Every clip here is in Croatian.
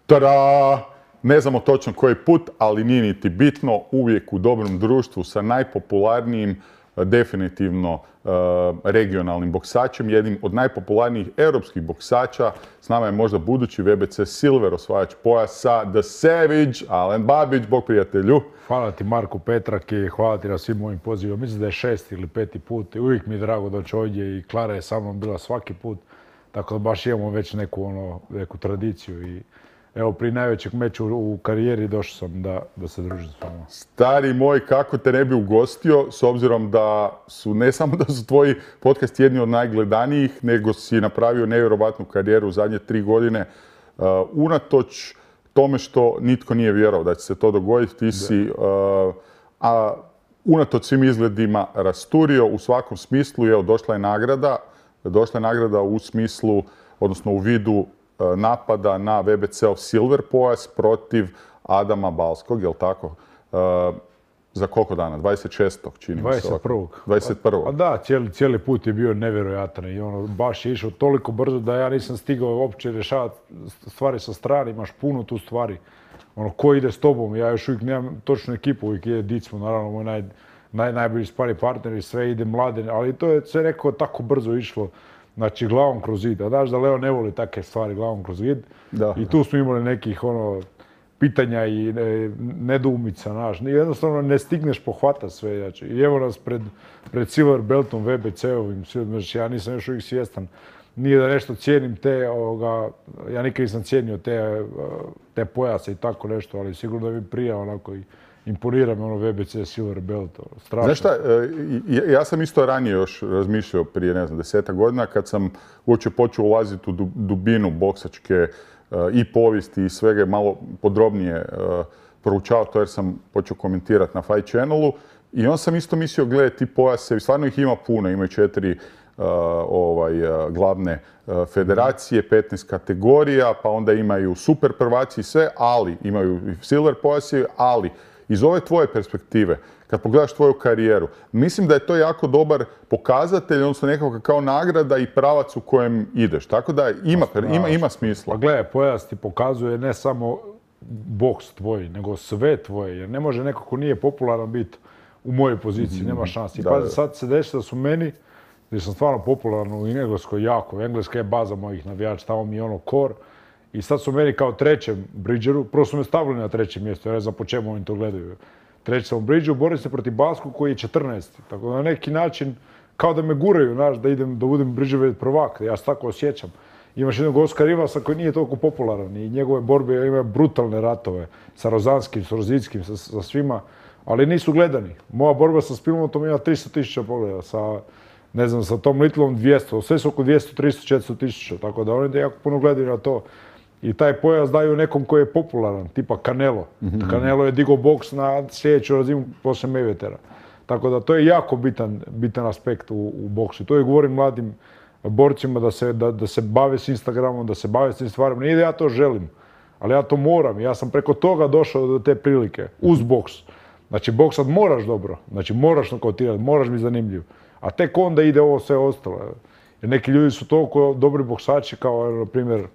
Tada! Ne znamo točno koji put, ali nije niti bitno, uvijek u dobrom društvu sa najpopularnijim, definitivno regionalnim boksačem, jednim od najpopularnijih europskih boksača. S nama je možda budući WBC Silver osvajač pojasa, The Savage, Alen Babić, bog prijatelju. Hvala ti Marku Petrak i hvala ti na svim mojim pozivima. Mislim da je 6. ili 5. put i uvijek mi je drago doći ovdje i Klara je sa mnom bila svaki put. Tako da baš imamo već neku tradiciju i evo, pri najvećeg meču u karijeri došao sam da se družim s vama. Stari moj, kako te ne bi ugostio, s obzirom da su, ne samo da su tvoji podcast jedni od najgledanijih, nego si napravio nevjerovatnu karijeru u zadnje 3 godine. Unatoč tome što nitko nije vjerovao da će se to dogoditi, ti si, unatoč svim izgledima rasturio u svakom smislu. Evo, došla je nagrada u smislu, odnosno u vidu napada na WBC-ov Silver pojas protiv Adama Balskog, jel tako? Za koliko dana? 26. čini mi se. 21. 21. A da, cijeli put je bio nevjerojatan i baš je išao toliko brzo da ja nisam stigao uopće rješavati stvari sa strane, imaš puno tu stvari. Ko ide s tobom? Ja još uvijek nemam točnu ekipu, uvijek ide Dicmo, naravno moj najbolji spari partner i sve ide mlade, ali to je sve nekako tako brzo išlo. Znači, glavom kroz zid. A znaš da Leo ne voli takve stvari, glavom kroz zid. I tu smo imali nekih pitanja i nedoumica, znaš. Jednostavno ne stigneš pohvatati sve. Znači. I evo nas pred Silver Beltom, WBC-ovim. Ja nisam još uvijek svjestan. Nije da nešto cijenim ja nikad nisam cijenio te pojase i tako nešto, ali sigurno da mi prija onako i imponira me WBC Silver Belt. Strašno. Znaš šta, ja sam isto ranije još razmišljao prije, 10 godina, kad sam uopće počeo ulaziti u dubinu boksačke i povijesti i svega malo podrobnije proučavao to jer sam počeo komentirati na Fight Channelu. I on sam isto mislio, gledaj, ti pojase, stvarno ih ima puno, imaju 4 glavne federacije, 15 kategorija, pa onda imaju super prvaci i sve, ali imaju silver pojasi, ali iz ove tvoje perspektive, kad pogledaš tvoju karijeru, mislim da je to jako dobar pokazatelj, odnosno nekako kao nagrada i pravac u kojem ideš. Tako da ima smisla. Pa gledaj, pojas ti pokazuje ne samo boks tvoj, nego sve tvoje. Jer ne može neko ko nije popularan biti u mojoj poziciji, nema šansi. I pazi, sad se desi da su meni, jer sam stvarno popularan u Engleskoj jako. Engleska je baza mojih navijača, tamo mi je core. I sad su meni kao trećem Bridgeru, prvo su me stavili na 3. mjesto, ja ne znam po čemu oni to gledaju. Treći sam u Bridgeru, borim se protiv Balskog koji je 14. Tako da na neki način, kao da me guraju, znaš, da budem Bridgerov prvak, ja se tako osjećam. Imaš jednog Oskar Rivasa koji nije toliko popularan i njegove borbe imaju brutalne ratove sa Rozanskim, s Rozickim, sa svima, ali nisu gledani. Moja borba sa Spilmotom ima 300.000 pogleda, sa Tom Littlom 200, sve su oko 200, 300, 400.000, tako da oni jako puno gledaju na to. I taj pojas daju nekom koji je popularan, tipa Canelo. Canelo je digao boks na sljedeću razinu poslije Mayweathera. Tako da to je jako bitan aspekt u boksu. To je govorim mladim borcima da se bave s Instagramom, da se bave s tim stvarima. Nije da ja to želim, ali ja to moram. Ja sam preko toga došao do te prilike, uz boks. Znači, boksat moraš dobro, znači moraš nokautirati, moraš biti zanimljiv. A tek onda ide ovo sve ostalo. Jer neki ljudi su toliko dobri boksači kao, na primjer,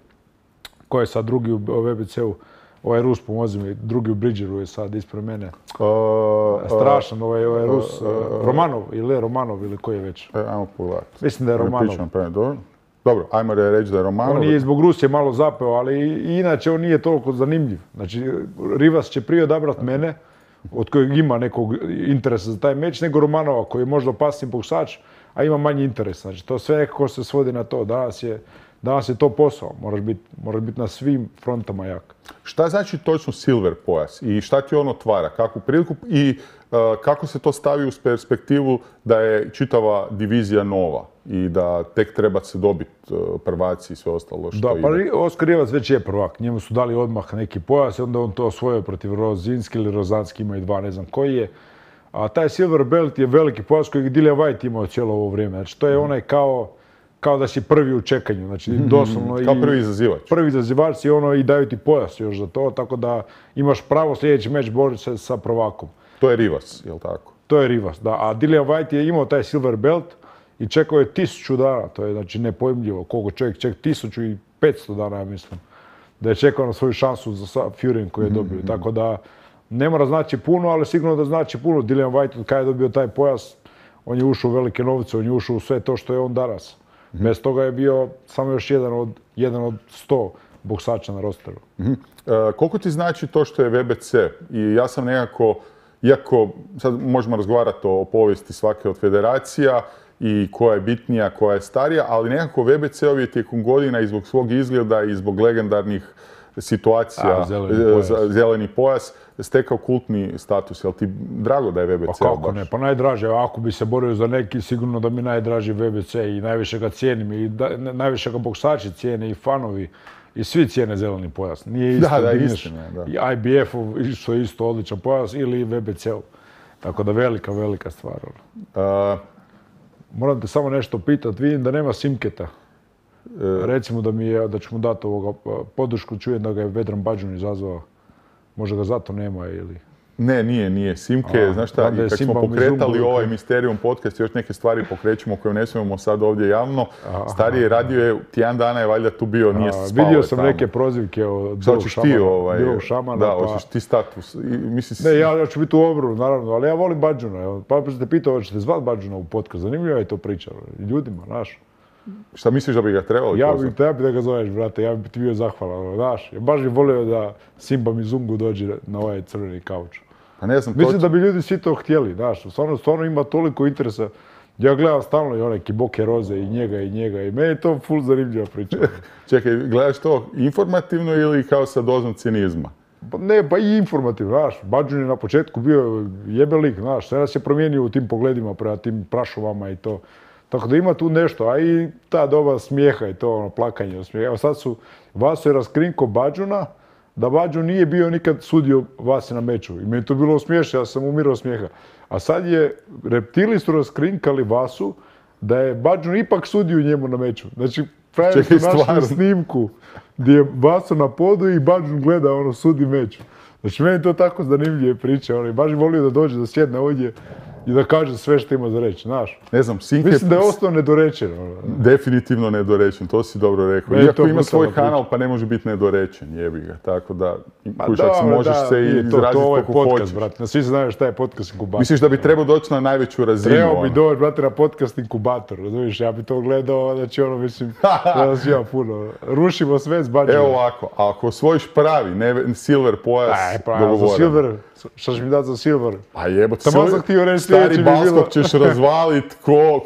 ko je sad drugi u WBC-u, ovaj Rus, pomozi mi, drugi u Bridgeru je sad ispred mene. Strašan ovaj Rus, Romanov ili koji je već? Ajmo pogledati. Mislim da je Romanov. Dobro, ajmo reći da je Romanov. On je zbog Rusije malo zapeo, ali inače on nije toliko zanimljiv. Znači, Rivas će prije odabrati mene, od kojeg ima nekog interesa za taj meč, nego Romanova koji je možda opasniji boksač, a ima manji interes. Znači, to sve nekako se svodi na to. Danas je to posao, moraš biti na svim frontama jak. Šta znači točno silver pojas i šta ti on otvara, kakvu priliku i kako se to stavi u perspektivu da je čitava divizija nova i da tek treba se dobiti prvaci i sve ostalo što ide? Da, pa Oskar Rivac već je prvak, njemu su dali odmah neki pojas i onda on to osvojio protiv Rozinski ili Rozanski, imaju 2, ne znam koji je. A taj silver belt je veliki pojas kojeg Dillian Whyte imao cijelo ovo vrijeme, znači to je onaj kao da si prvi u čekanju, znači doslovno kao prvi izazivač. Prvi izazivač i daju ti pojas još za to, tako da imaš pravo sljedeći meč boriti se sa prvakom. To je Rivas, jel tako? To je Rivas, da. A Dillian Whyte je imao taj silver belt i čekao je 1000 dana, to je znači nepojmljivo, koliko čovjek čeka 1500 dana, ja mislim. da je čekao na svoju šansu sa Furyjem koji je dobio. Tako da ne mora znači puno, ali sigurno da znači puno. Dillian Whyte od kada je dobio taj pojas, on je ušao u velike novce, on je ušao u sve to što je on danas. Bez toga je bio samo još jedan od 100 boksača na rosteru. Koliko ti znači to što je VBC? I ja sam nekako, iako sad možemo razgovarati o povijesti svake od federacija i koja je bitnija, koja je starija, ali nekako VBC-ov je tijekom godina i zbog svog izgleda i zbog legendarnih situacija, zeleni pojas, stekao kultni status. Jel ti drago da je VBC? Pa kako ne, pa najdraže. Ako bi se borio za neki, sigurno da mi najdraži VBC i najviše ga cijenim i najviše ga boksači cijene i fanovi. I svi cijene zeleni pojas. Nije isto i IBF-ov što je isto odličan pojas ili VBC-ov. Tako da velika stvar. Moram te samo nešto pitati. Vidim da nema Simketa. Recimo da ću mu dati podršku. Čujem da ga je Vedran Bađun izazvao. Možda ga zato nema ili... Ne, nije. Simke, znaš šta, kad smo pokretali ovaj Misterium podcast, još neke stvari pokrećemo koje ne smijemo sad ovdje javno. Stariji radio je, tjedan dana je valjda tu bio, nije spao. Vidio sam neke prozivke od Bilog Šamana. Da, hoćeš ti status. Ne, ja ću biti u obranu, naravno, ali ja volim Bađuna. Pa ste pitao, hoćete zvati Bađuna u podcast, zanimljivo je to priča. Ljudima, znaš. Šta misliš da bi ga trebali? Ja bi da ga zoveš, brate, ja bi ti bio zahvalan, znaš. Ja baš bih volio da Simba Mizungu dođe na ovaj crveni kauč. Pa ne znam, mislim da bi ljudi svi to htjeli, znaš. Stvarno ima toliko interesa. Ja gledam stalno i one Kiboke Roze i njega i meni je to full zanimljiva priča. Čekaj, gledaš to informativno ili kao sa dozom cinizma? Ne, pa i informativno, znaš. Bađun je na početku bio jebelik, znaš. Sve nas je promijenio u tim pogledima prema tim prašovama i to. Tako da ima tu nešto, a i ta doba smijeha i to plakanje od smijeha. Evo sad Vaso je raskrinko Bađuna, da Bađun nije bio nikad sudio Vasi na meču. I meni to bilo smiješno, ja sam umirao smijeha. A sad reptili su raskrinkali Vasu da je Bađun ipak sudio njemu na meču. Znači, pravi su našli snimku gdje je Vaso na podu i Bađun gleda, sudi meč. Znači, meni je to tako zanimljive priče. Baš bi volio da dođe, da sjedne ovdje i da kaže sve što ima za reći, znaš. Ne znam, mislim da je ostao nedorečen. Definitivno nedorečen, to si dobro rekao. Iako ima svoj kanal, pa ne može biti nedorečen, jebi ga. Tako da, kušak, možeš se i izraziti koliko hoćeš. Svi se znaju šta je podcast inkubator. Misliš da bi trebao doći na najveću razinu? Trebao bi doći, brate, na podcast inkubator, razumiješ? Ja bi to gledao, znači mislim, da nas ima puno. Rušimo sve s Bađunom. Evo ovako, ako osvojiš pravi, silver pojas, dogovoran. Šta ćeš mi dati za silver? Pa jebot, stari baskok ćeš razvalit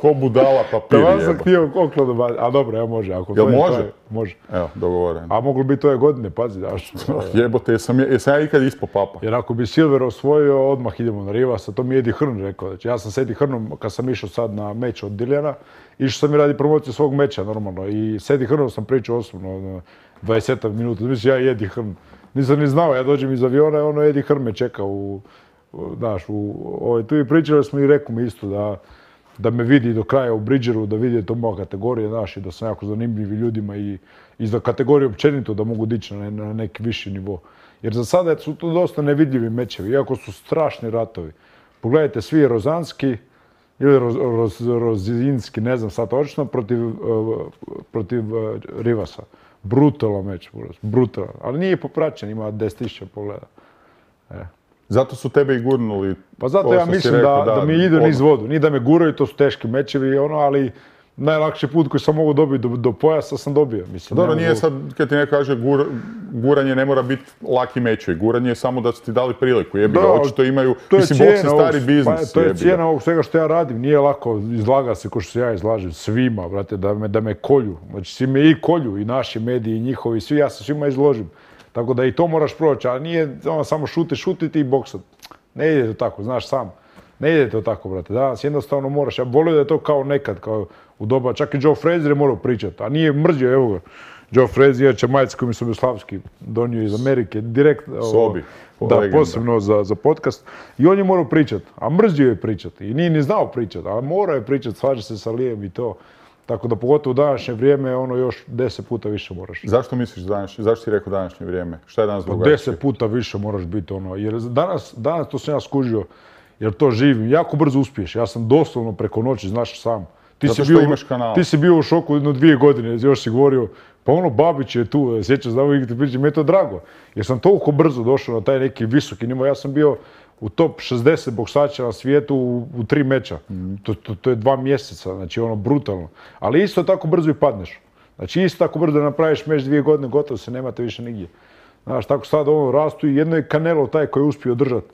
ko budala papir. Tamo sam htio okladu baciti, a dobro, evo može. Jel može? Može. Evo, dogovoren. A moglo biti ove godine, pazi, daš. Jebote, jesam ja ikad ispod papa. Jer ako bi silver osvojio, odmah idemo na Rivasa, to mi je Eddie Hearn rekao. Znači, ja sam s Eddie Hearnom, kad sam išao sad na meč od Dilljana, išao sam i radi promociju svog meča, normalno. I s Eddie Hearnom sam pričao osobno, 20 minuta. Mislim, ja i Eddie Hearn. Nisam ni znao, ja dođem iz aviona, Eddie Hearn me čeka tu i pričali smo i rekao mi isto da me vidi do kraja u Bridgeru, da vidi to moja kategorija, znaš, i da sam jako zanimljivi ljudima i za kategoriju općenito da mogu dići na neki viši nivo. Jer za sada su to dosta nevidljivi mečevi, iako su strašni ratovi. Pogledajte, svi Rozanski ili Rozinski, ne znam sad točno, protiv Rivasa. Brutalan meč, brutalan. Ali nije popraćen, ima 10.000 pogleda. Zato su tebe i gurnuli. Pa zato ja mislim da mi idu niz vodu. Nije da me guraju, to su teški mečevi, ali najlakši put koji sam mogu dobiti do pojasa sam dobio. Dobro, nije sad, kad ti neko kaže guranje ne mora biti laki mečevi. Guranje je samo da su ti dali priliku. Jebi ga, očito imaju, mislim, boks je stari biznis. To je cijena ovog svega što ja radim. Nije lako izlaga se ko što se ja izlažem. Svima, brate, da me kolju. Znači, svi me i kolju, i naši mediji, i njihovi, svi, ja se svima izložim. Tako da i to moraš proći, a nije samo šutiti i boksat. Ne ide to tako, znaš sam. Ne ide to tako, brate. Danas jednostavno moraš. Ja volio da je to kao nekad, kao u doba. Čak i Joe Frazier je morao pričati, a nije mrzio, evo ga. Joe Frazier, Čemajac koji mi se Jugoslavski donio iz Amerike, direkt, posebno za podcast. I on je morao pričati, a mrzio je pričati. I nije ni znao pričati, a morao je pričati, slaže se sa Lijem i to. Tako da pogotovo u današnje vrijeme još 10 puta više moraš. Zašto misliš zašto ti rekao današnje vrijeme? Šta je danas drugačije? 10 puta više moraš biti jer danas to sam ja skužio, jer to živim, jako brzo uspiješ. Ja sam doslovno preko noći, znaš sam. Zato što imaš kanal. Ti si bio u šoku jedno 2 godine, još si govorio Pa ono, Babić je tu, sjećam da uvijek ti pričam, mi je to drago. Jer sam toliko brzo došao na taj neki visoki nivo. Ja sam bio u top 60 boksača na svijetu u 3 meča. To je 2 mjeseca, znači ono, brutalno. Ali isto tako brzo i padneš. Znači isto tako brzo da napraviš meč 2 godine, gotovo se nemate više nigdje. Znaš, tako sad ovo rastu i jedno je Canelo taj koji je uspio držati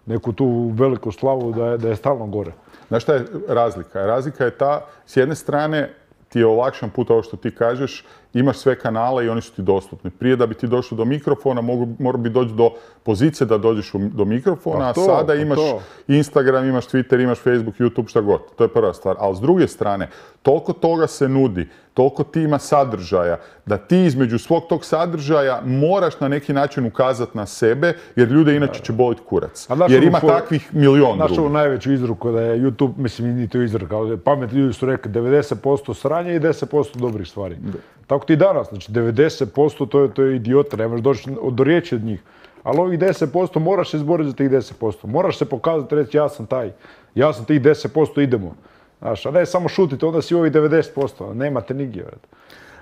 neku tu veliku slavu da je stalno gore. Znaš šta je razlika? Razlika je ta, s jedne strane, ti je olakšan put ovo što ti kažeš, imaš sve kanale i oni su ti dostupni. Prije da bi ti došao do mikrofona, mora bi doći do pozicije da dođeš do mikrofona, a sada imaš Instagram, imaš Twitter, imaš Facebook, YouTube, šta god. To je prva stvar. Ali s druge strane, toliko toga se nudi, toliko ti ima sadržaja, da ti između svog tog sadržaja moraš na neki način ukazati na sebe, jer ljude inače će boliti kurac. Jer ima takvih milion drugih. Znaš ovu najveću izruku da je YouTube, mislim, nije to izruka, ali pametni ljudi su rekli 90% sranja i 10% dobrih stvari. Tako ti danas, znači 90% to je idiota, nemaš doći do riječi od njih. Ali ovih 10% moraš se izboriti za tih 10%. Moraš se pokazati, reći ja sam taj, ja sam tih 10%, idemo. Znaš, a ne samo šutite, onda si ovih 90%, nemate nigdje.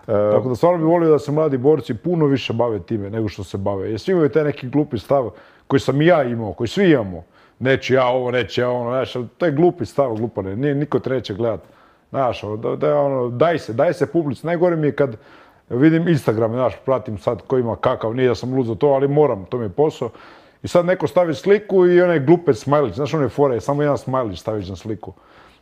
Tako da stvarno bih volio da se mladi borci puno više bave time nego što se bave. Jer svi imaju taj neki glupi stav koji sam i ja imao, koji svi imamo. Neću ja ovo, neću ja ono, znaš, to je glupi stav, glupane, niko te neće gledati. Znaš, daj se publici. Najgore mi je kad vidim Instagram, znaš, pratim sad ko ima kakav, nije da sam lud za to, ali moram, to mi je posao. I sad neko stavi sliku i onaj glupec smajlić, znaš one fore, samo jedan smajlić staviš na sliku.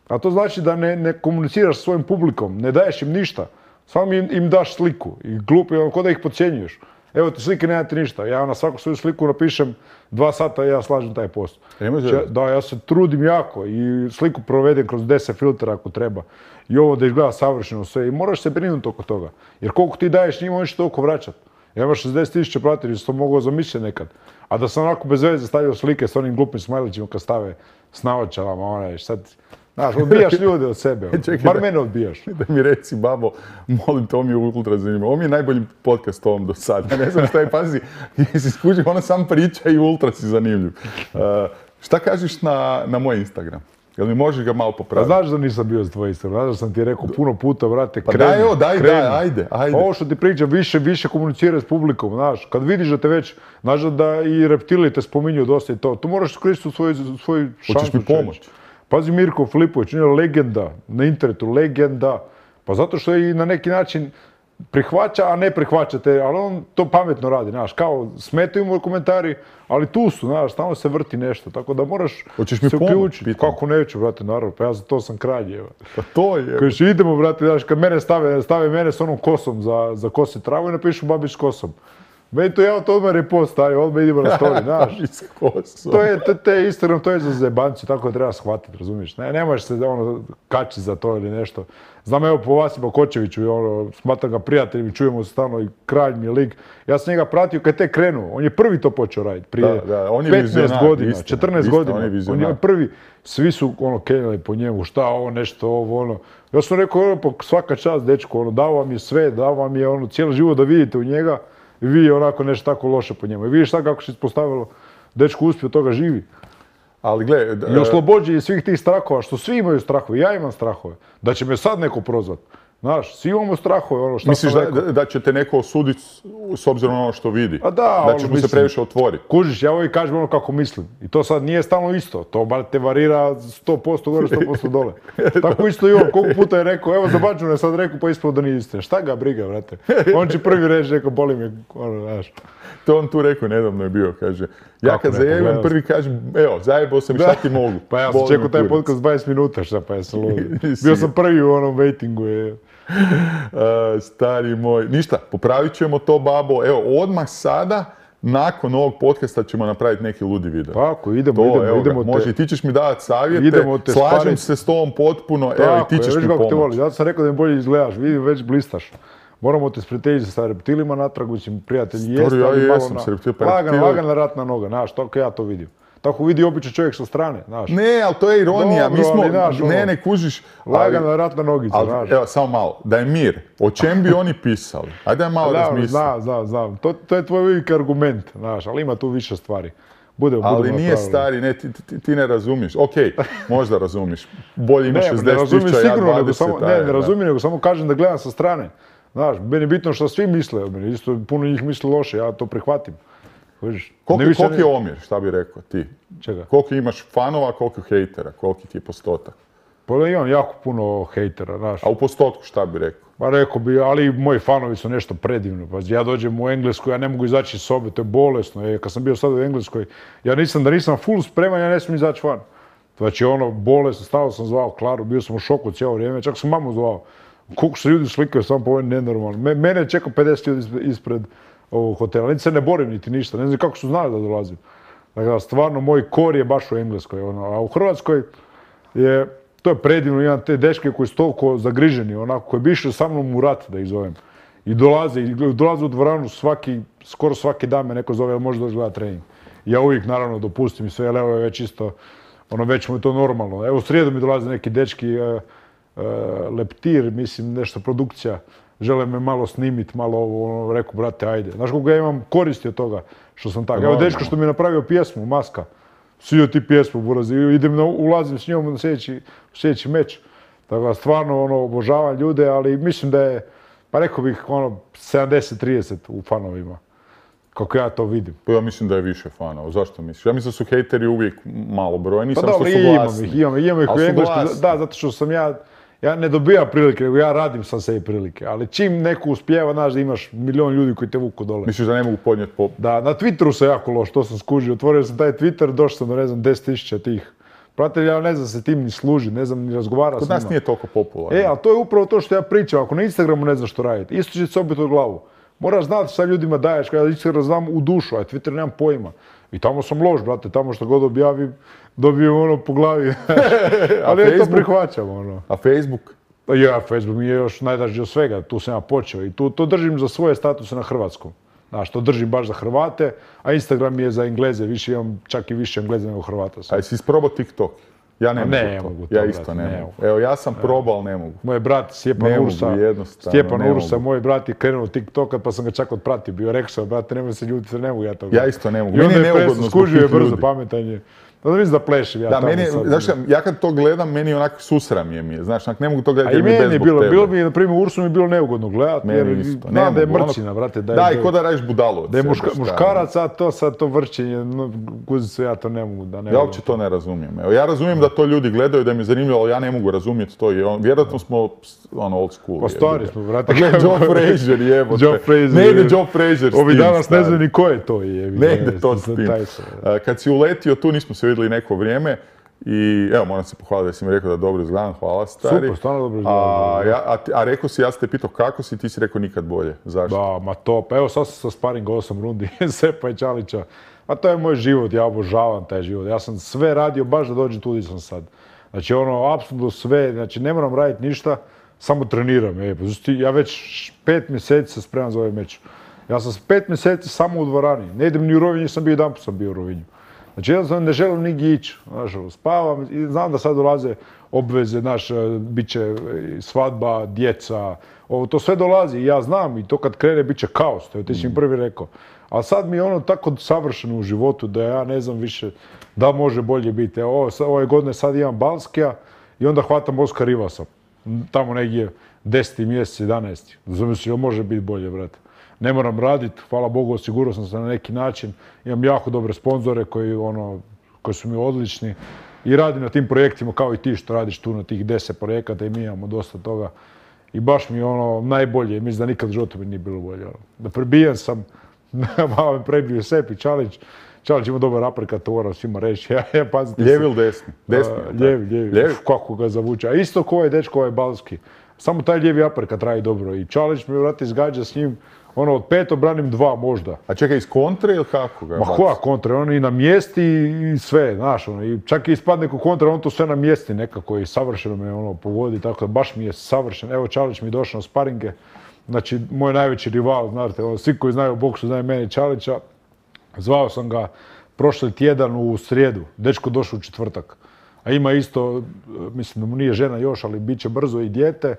A to znači da ne komuniciraš s svojim publikom, ne daješ im ništa, samo im daš sliku i glupi, ko da ih podcjenjuješ. Evo ti slike, nemate ništa. Ja na svaku svoju sliku napišem 2 sata i ja slažem taj post. Da, ja se trudim jako i sliku provedem kroz 10 filtera ako treba. I ovo da izgleda savršeno sve. I moraš se brinuti oko toga. Jer koliko ti daješ njima, oni će toliko vraćati. Ja imam 60.000 pratitelja, što sam mogao zamisliti nekad. A da sam onako bez veze stavio slike s onim glupim smajlićima kad stave s naočalama, onaj, sad... Znaš, odbijaš ljude od sebe, bar mene odbijaš. Da mi reci, babo, molim te, ovo mi je ultra zanimljivo. Ovo mi je najbolji podcast ovom do sada. Ne znam šta je, pazi, jesi skužio, ona sam priča i ultra si zanimljiv. Šta kažeš na moj Instagram? Jel mi možeš ga malo popraviti? Znaš da nisam bio za tvoj Instagram, znaš da sam ti rekao puno puta, brate, kreni. Pa daj, evo, daj, ajde. Ovo što ti pričam, više komuniciraj s publikom, znaš. Kad vidiš da te već, znaš da i reptili te spominju dosta i to, tu moraš koristiti svoju šansu. Hoćeš mi pomoći? Pazi, Mirko Filipović, on je legenda na internetu, legenda. Pa zato što i na neki način prihvaća, a ne prihvaćate, ali on to pametno radi, znaš, kao smetaju mu komentari, ali tu su, znaš, tamo se vrti nešto, tako da moraš se uključiti. Kako neću, brate, naravno, pa ja za to sam kralj, evo. Pa to je. Kažeš, idemo, brate, znaš, kad mene stave mene s onom kosom za kosi travu i napišu Babić s kosom. Meni to ja to odmah repost stavim, odmah idemo na story, znaš. To je Instagram, to je za zebanci, tako da treba shvatiti, razumiješ? Ne možeš se kačiti za to ili nešto. Znam, evo po Vasipa Kočeviću, smatram ga prijateljem i čujemo se stalno i kralj mi je lik. Ja sam njega pratio kad je tek krenuo, on je prvi to počeo raditi, prije 15 godina, 14 godina. On je prvi, svi su krenuli po njemu, šta ovo, nešto ovo, Ja sam rekao, svaka čast, dečko, dao vam je sve, dao vam je cijeli život da vidite u njega. I vidi onako nešto tako loše po njemu. I vidiš sad kako se ispostavilo, dečko uspio, toga živi. Ali gle... I oslobođenje svih tih strahova, što svi imaju strahove, ja imam strahove. Da će me sad neko prozvat. Znaš, svi imamo strahove, šta misliš da će te neko osuditi s obzirom na ono što vidi? A da ćeš mu se previše otvoriti? Kužiš, ja uvijek kažem kako mislim. I to sad nije stalno isto. To bar te varira 100% gore, 100% dole. Tako isto i on. Koliko puta je rekao, evo za Bađuna je sad rekao, pa ispod da nije istina. Šta ga briga, brate? On će prvi reći, rekao, boli me, znaš. To on tu rekao, nedavno je bio, kaže. Ja kad zajebam prvi kažem, evo, zajebao sam i šta ti mogu. Pa ja sam čekao taj podcast 20 minuta, šta pa ja sam lud. Bio sam prvi u onom waitingu. Stari moj. Ništa, popravit ćemo to, babo. Evo, odmah sada, nakon ovog podcasta ćemo napraviti neki ludi video. Tako, idemo. Može, i ti ćeš mi davati savjete, slažem se s tobom potpuno, evo i ti ćeš mi pomoći. Zato sam rekao da mi bolje izgledaš, vidim, već blistaš. Moramo te sprijateljiti sa reptilima natrag, mislim, prijatelji jeste, ali malo lagana ratna noga, znaš, tako ja to vidim. Tako vidi običan čovjek sa strane, znaš. Ne, ali to je ironija, mi smo, ne kužiš. Lagana ratna nogica, znaš. Evo, samo malo, da je mir, o čem bi oni pisali? Ajde da malo razmislim. Znam, to je tvoj uvijek argument, znaš, ali ima tu više stvari. Ali nije stari, ne, ti ne razumiješ. Okej, možda razumiš. Bolje ima 60.000, ja 20. Ne razumijem, nego samo kažem da gledam sa strane. Znaš, meni je bitno što svi misle o meni, isto puno njih misli loše, ja to prihvatim. Koliki je omjer, šta bi rekao ti? Čega? Koliko imaš fanova, koliko hejtera, koliki ti je postotak? Pa da imam jako puno hejtera, znaš. A u postotku šta bi rekao? Pa rekao bi, ali moji fanovi su nešto predivno. Pa ja dođem u Englesku, ja ne mogu izaći iz sobe, to je bolesno. Kad sam bio sad u Engleskoj, da nisam full spreman, ja ne smijem izaći van. Znači bolesno, stalno sam zvao Klaru, bio sam u šoku cijelo vrijeme, čak sam mamu zvao. Koliko se ljudi slikaju, samo po ovim nenormalno. Mene čeka 50 ljudi ispred ovog hotela, niti se ne borim niti ništa, ne znam kako su znali da dolazim. Dakle, stvarno, moj kor je baš u Engleskoj, a u Hrvatskoj to je predivno, imam te dečke koji su toliko zagriženi, onako, koji bi išli sa mnom u rat, da ih zovem. I dolaze u dvoranu skoro svaki dan me neko zove, može doći gledati trening. Ja uvijek, naravno, dopustim i sve, ali evo je već isto, već mu je to normalno. Evo, u srijedu mi dolaze neki dečki, Leptir, mislim, nešto produkcija, žele me malo snimiti, malo ovo, reku, brate, ajde. Znaš koliko ja imam koristi od toga što sam tako. Evo, dečko što mi je napravio pjesmu, Maska, svi ti pjesmu, burazi, ulazim s njom na sljedeći meč. Tako da, stvarno, obožavam ljude, ali mislim da je, pa rekao bih, 70-30 u fanovima. Kako ja to vidim. Pa ja mislim da je više fanova. Zašto misliš? Ja mislim da su hejteri uvijek malobrojni, pa samo što su glasni. Imam ih u Engleskoj. Da, zato što sam ja ne dobijam prilike, nego ja radim sa sebi prilike. Ali čim neko uspijeva, znaš da imaš milion ljudi koji te vuku dole. Misliš da ne mogu podnijeti Da, na Twitteru sam jako loš, to sam skužio. Otvorio sam taj Twitter, došao sam do, ne znam, 10.000 tih. Pratitelja, ja ne znam se tim ni služi, ne znam ni razgovara s njima. Kod nas nije toliko popularno. Ali to je upravo to što ja pričam. Ako na Instagramu ne znaš što raditi, isto će se obiti u glavu. Moraš znati šta ljudima daješ, kada Instagram znam u dušu, a Twitter nemam pojma. I tamo sam loš, brate, tamo što god objavim, dobijem po glavi. Ali ja to prihvaćam, A Facebook? Ja, Facebook mi je još najdraži od svega, tu sam ja počeo i to držim za svoje statuse na hrvatskom. Znaš, to držim baš za Hrvate, a Instagram je za Engleze, imam čak i više Engleze nego Hrvata. A jesi isprobao TikTok? Ja ne mogu to. Ja isto ne mogu. Evo, ja sam probao, ali ne mogu. Moj brat Stjepan Ursa, moj brat je krenuo TikToka, pa sam ga čak otpratio. Rekao sam, brate, nemoj se ljutiti, ne mogu ja to. Ja isto ne mogu. Meni je neugodno zbog tih ljudi. Brzo pametanje. Da mislim da plešim ja tamo sad. Znaš, ja kad to gledam, meni onako susram je. Znaš, ne mogu to gledati jer mi je bez zbog tebe. Bilo mi, na primjer, Ursu mi je bilo neugodno gledati, jer znam da je mrčina, brate. Da, i ko da radiš budalu od sebe. Da je muškarac, a to vrčenje, guzicu, ja to ne mogu. Ja uopće to ne razumijem. Evo, ja razumijem da to ljudi gledaju, da mi je zanimljivo, ali ja ne mogu razumjeti to. Vjerojatno smo old school. Pa stari smo, brate. Gledaj, Joe Frazier, jebote. Ne ide Joe Frazier s tim. Ovi danas ne znaju ni ko je to. Ne ide to s tim. Kad si uletio, tu nismo se vidjeli neko vrijeme i evo, moram se pohvaliti da si mi rekao da dobro izgledam, hvala stari. Super, stvarno dobro izgledam. A rekao si, ja sam te pitao kako si, ti si rekao nikad bolje. Zašto? Da, ma top. Evo sad sam sa sparinga 8 rundi, Sepa i Čalića. Ma to je moj život, ja obožavam taj život. Ja sam sve radio baš da dođem tu gdje sam sad. Znači apsolutno sve, znači ne moram raditi ništa, samo treniram. Ja već 5 mjeseci se spremam za ovaj meč. Ja sam 5 mjeseci samo u dvorani. Ne idem ni u Rovinju, sam bio jedanput sam bio u Rovinju. Znači jednostavno ne želim nigdje ići, spavam i znam da sad dolaze obveze, bit će svadba, djeca, to sve dolazi i ja znam i to kad krene bit će kaos, to je ti si mi prvi rekao. A sad mi je ono tako savršeno u životu da ja ne znam više da može bolje biti. Ove godine sad imam Balskija i onda hvatam Oskar Rivasa, tamo negdje 10. mjesec, 11. Zamislio, može biti bolje, brate. Ne moram raditi, hvala Bogu, osigurao sam se na neki način. Imam jako dobre sponzore koji su mi odlični i radim na tim projektima kao i ti što radiš tu na tih 10 projekata i mi imamo dosta toga. I baš mi je najbolje, mislim da nikad u životu mi nije bilo bolje. Da prebijen sam, malo me prebio Sepi, Čalić. Čalić ima dobar uppercut, to moram svima reći. Lijevi ili desni? Desni. Lijevi. Kako ga zavuče. A isto ko je dečko, ovaj Balski. Samo taj lijevi uppercut radi dobro. I Čalić me vrati izgađa s njim. Od 5 obranim 2 možda. A čekaj, iz kontre ili kako ga? Ma koja kontre, on i na mjesti i sve, znaš, i čak i ispadne ko kontra, on to sve na mjesti nekako i savršeno me pogodi, tako da baš mi je savršen. Evo Čalić mi je došao na sparinge, znači moj najveći rival, znate, svi koji znaju o boksu znaju mene i Čalića. Zvao sam ga prošli tjedan u srijedu, dečko došao u četvrtak. A ima isto, mislim da mu nije žena još, ali bit će brzo i dijete.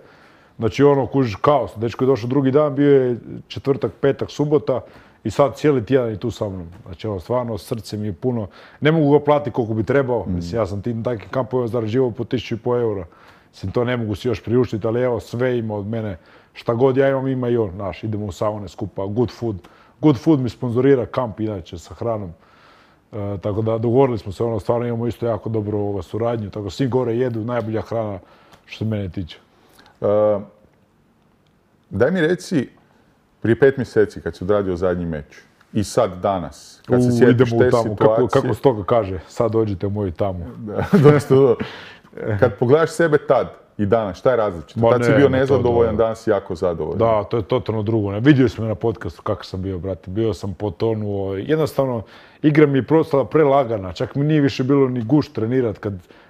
Znači kužiš kaos, dečko je došao drugi dan, bio je četvrtak, petak, subota i sad cijeli tjedan je tu sa mnom. Znači stvarno srce mi je puno, ne mogu ga platiti koliko bi trebao, mislim ja sam tim takvim kampovima zarađivao po 1.500 eura Mislim, to ne mogu si još priuštiti, ali evo, sve ima od mene. Šta god ja imam, ima i on, znaš, idemo u saune skupa, Good Food. Good Food mi sponzorira kamp, inače, sa hranom. Tako da dogovorili smo se, ono, stvarno imamo isto jako dobro suradnju, tako svi gore jedu, najbolja hrana što se mene tiče. Daj mi reci, prije 5 mjeseci kad si odradio zadnji meč i sad danas, kad se sjetiš te situacije... Kako stoga kaže, sad dođite u moju tamu. Kad pogledaš sebe tad i danas, šta je različito? Tad si bio nezadovoljan, danas si jako zadovoljan. Da, to je totalno drugo. Vidio sam me na podcastu kako sam bio, brate. Bio sam potonuo. Jednostavno, igra mi je postala prelagana. Čak mi nije više bilo ni gušt trenirat.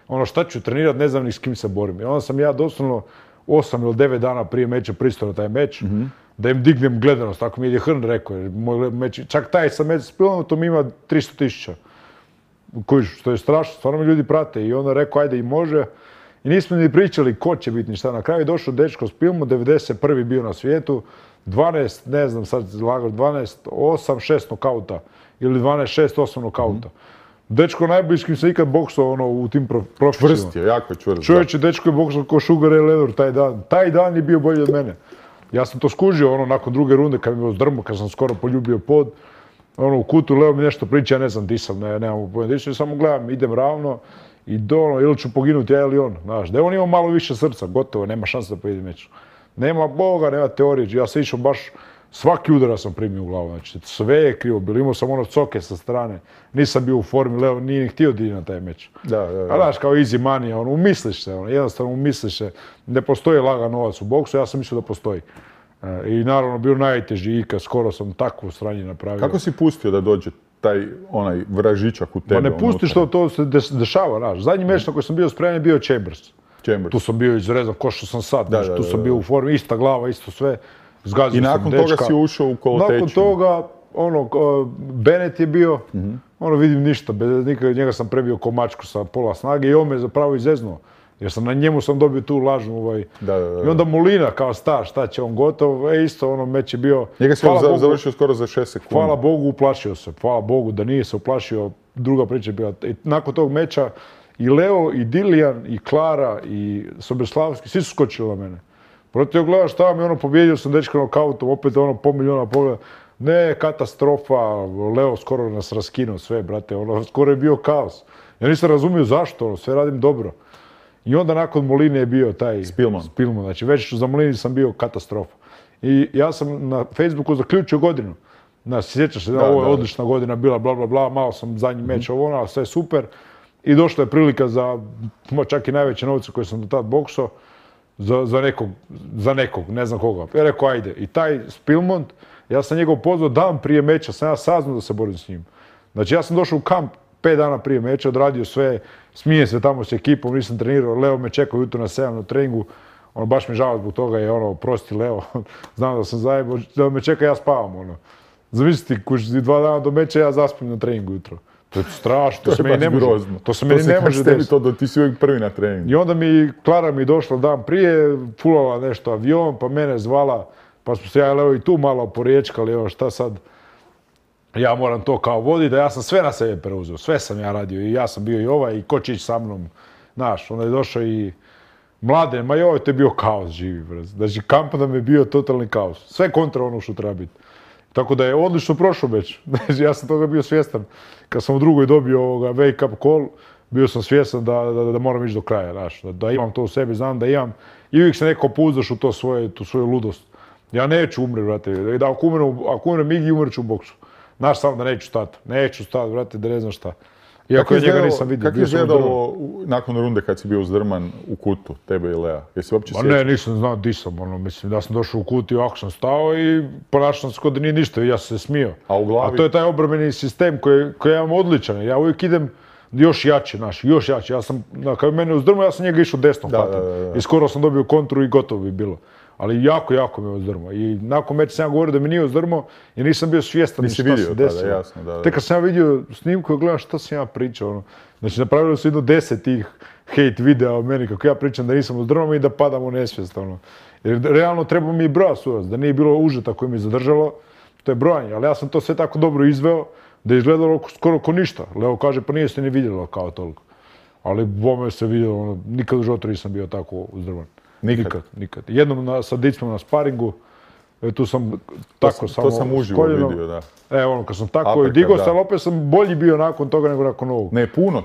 Ono, šta ću trenirat, ne znam ni s kim se borim. I onda sam ja doslovno 8 ili 9 dana prije meča pristao na taj meč, da im dignem gledanost. Tako mi je Hrn rekao. Čak taj sam meč s Pilmotom ima 300.000. Što je strašno, stvarno mi ljudi prate. I onda rekao, ajde i može. I nismo ni pričali ko će biti ni šta. Na kraju je došao dečko s Pilmo, 91. bio na svijetu, 12, ne znam sad lagao, 12, 8, 6 nokauta. Ili 12, 6, 8 nokauta. Dečko najbolji s kim se ikad boksao u tim profesionalima. Čvrst je, jako je čvrst. Čovječe, dečko je boksao ko Sugar Ray Leonard taj dan. Taj dan je bio bolji od mene. Ja sam to skužio nakon druge runde kad mi je zdrmo, kad sam skoro poljubio pod. U kutu Leo mi nešto priča, ja ne znam di sam, nemam pojma di sam, samo gledam, idem ravno i ili ću poginuti ja ili on, znaš. Da je on imao malo više srca, gotovo, nema šanse da pojedi meč. Nema Boga, nema teorije, ja sam išao baš, svaki udara sam primio u glavu, znači sve je krivo bilo, imao sam coke sa strane, nisam bio u formi, Leo nije ni htio da ide na taj meč. A znaš, kao easy money, umisliš se, jednostavno umisliš se, ne postoji lagan novac u boksu, ja sam mislio da postoji. I naravno bio najteži ikad, skoro sam takvo sranje napravio. Kako si pustio da dođe taj onaj vražičak u tebe? Ma ne pustiš to se dešava, znaš. Zadnji meč na koji sam bio spreman je bio Chambers. Tu sam bio izrezan ko što sam sad, tu sam bio u formi, ista glava, isto sve. I nakon toga si ušao u kolotečinu? Nakon toga, Bennett je bio, vidim ništa, njega sam prebio ko mačku sa pola snage i on me zapravo izeznuo. Jer na njemu sam dobio tu lažnu I onda Molina kao star, šta će on gotov, isto meč je bio... Njega si završio skoro za 6 sekundi. Hvala Bogu, uplašio se. Hvala Bogu da nije se uplašio, druga priča je bila. I nakon tog meča i Leo, i Dilijan, i Klara, i Sobeslavski, svi su skočili na mene. Protiv gledaš šta mi pobjedio sam dečka nokautom, opet po miliona pogleda. Ne, katastrofa, Leo skoro nas raskinuo sve, brate, skoro je bio kaos. Ja nisam razumio zašto, sve radim dobro. I onda nakon Moline je bio taj Spilman. Znači već za Molini sam bio katastrofa. I ja sam na Facebooku zaključio godinu. Sjećaš se, ovo je odlična godina bila, bla, bla, bla, malo sam zadnji meč ali sve super. I došla je prilika za čak i najveće novce koje sam do tad boksao, za nekog, ne znam koga. Ja rekao, ajde. I taj Spilman, ja sam njegov pozvao dan prije meča, sam ja saznao da se borim s njim. Znači ja sam došao u kamp 5 dana prije meča, odradio sve, smije se tamo s ekipom, nisam trenirao, Leo me čekao jutro na 7 na treningu, baš mi žao zbog toga je prosti Leo, znam da sam zajebao, da me čeka, ja spavam, Zamisliti, 2 dana do meča ja zaspim na treningu jutro. To je strašno, to se meni ne može, to se meni ne može desiti. Ti si uvijek prvi na treningu. I onda Klara mi došla dan prije, fulala nešto avion, pa mene zvala, pa smo se ja i Leo i tu malo poriječkali, šta sad. Ja moram to kao voditi, da ja sam sve na sebe preuzeo, sve sam ja radio i ja sam bio i ovaj i ko će ići sa mnom, znaš, onda je došao i Mladen, ma joj, to je bio kaos živi, brez. Znači, kamp nam je bio totalni kaos, sve kontra ono što treba biti. Tako da je odlično prošao već, znači, ja sam toga bio svjestan. Kad sam u drugoj dobio wake up call, bio sam svjestan da moram ići do kraja, znaš, da imam to u sebi, znam da imam i uvijek se neko pouzdaš u tu svoju ludost. Ja neću umri, brate, da ako umrem Igi, umret ću u boksu. Znaš samo da neću stati, brate, da ne znam šta. Iako ja njega nisam vidio. Kako je izgledalo nakon runde kad si bio uzdrman u kutu, tebe i Lea? Jesi uopće sjećao? Ne, nisam znao di sam, mislim da sam došao u kut i ovako sam stao i ponašao sam se kao da nije ništa i ja sam se smio. A u glavi? A to je taj obrambeni sistem koji ja imam odličan, ja uvijek idem još jače, još jače. Ja sam, kad mene uzdrmao, ja sam njega išao desnom patom. I skoro sam dobio kontru i gotovo bi bilo. Ali jako me uzdrmao. I nakon meča sam ja govorio da mi nije uzdrmao jer nisam bio svjestan šta se desilo. Tek kad sam ja vidio snimku i gledam šta sam ja pričao. Znači napravili su jedno 10 tih hate videa o meni kako ja pričam da nisam uzdrmao i da padam u nesvijest. Jer realno treba mi i broja sudac, da nije bilo užeta koje mi zadržalo. To je brojanje, ali ja sam to sve tako dobro izveo da je izgledalo skoro ko ništa. Leo kaže pa nije se ni vidjelo kao toliko. Ali bome se vidio, ono, nikad u životu nisam bio tako uzdrman. Nikad? Nikad. Jednom sa dicom na sparingu, tu sam tako samo... To sam uživo vidio, da. Ono, kad sam tako i digao se, ali opet sam bolji bio nakon toga nego nakon ovog. Ne, puno.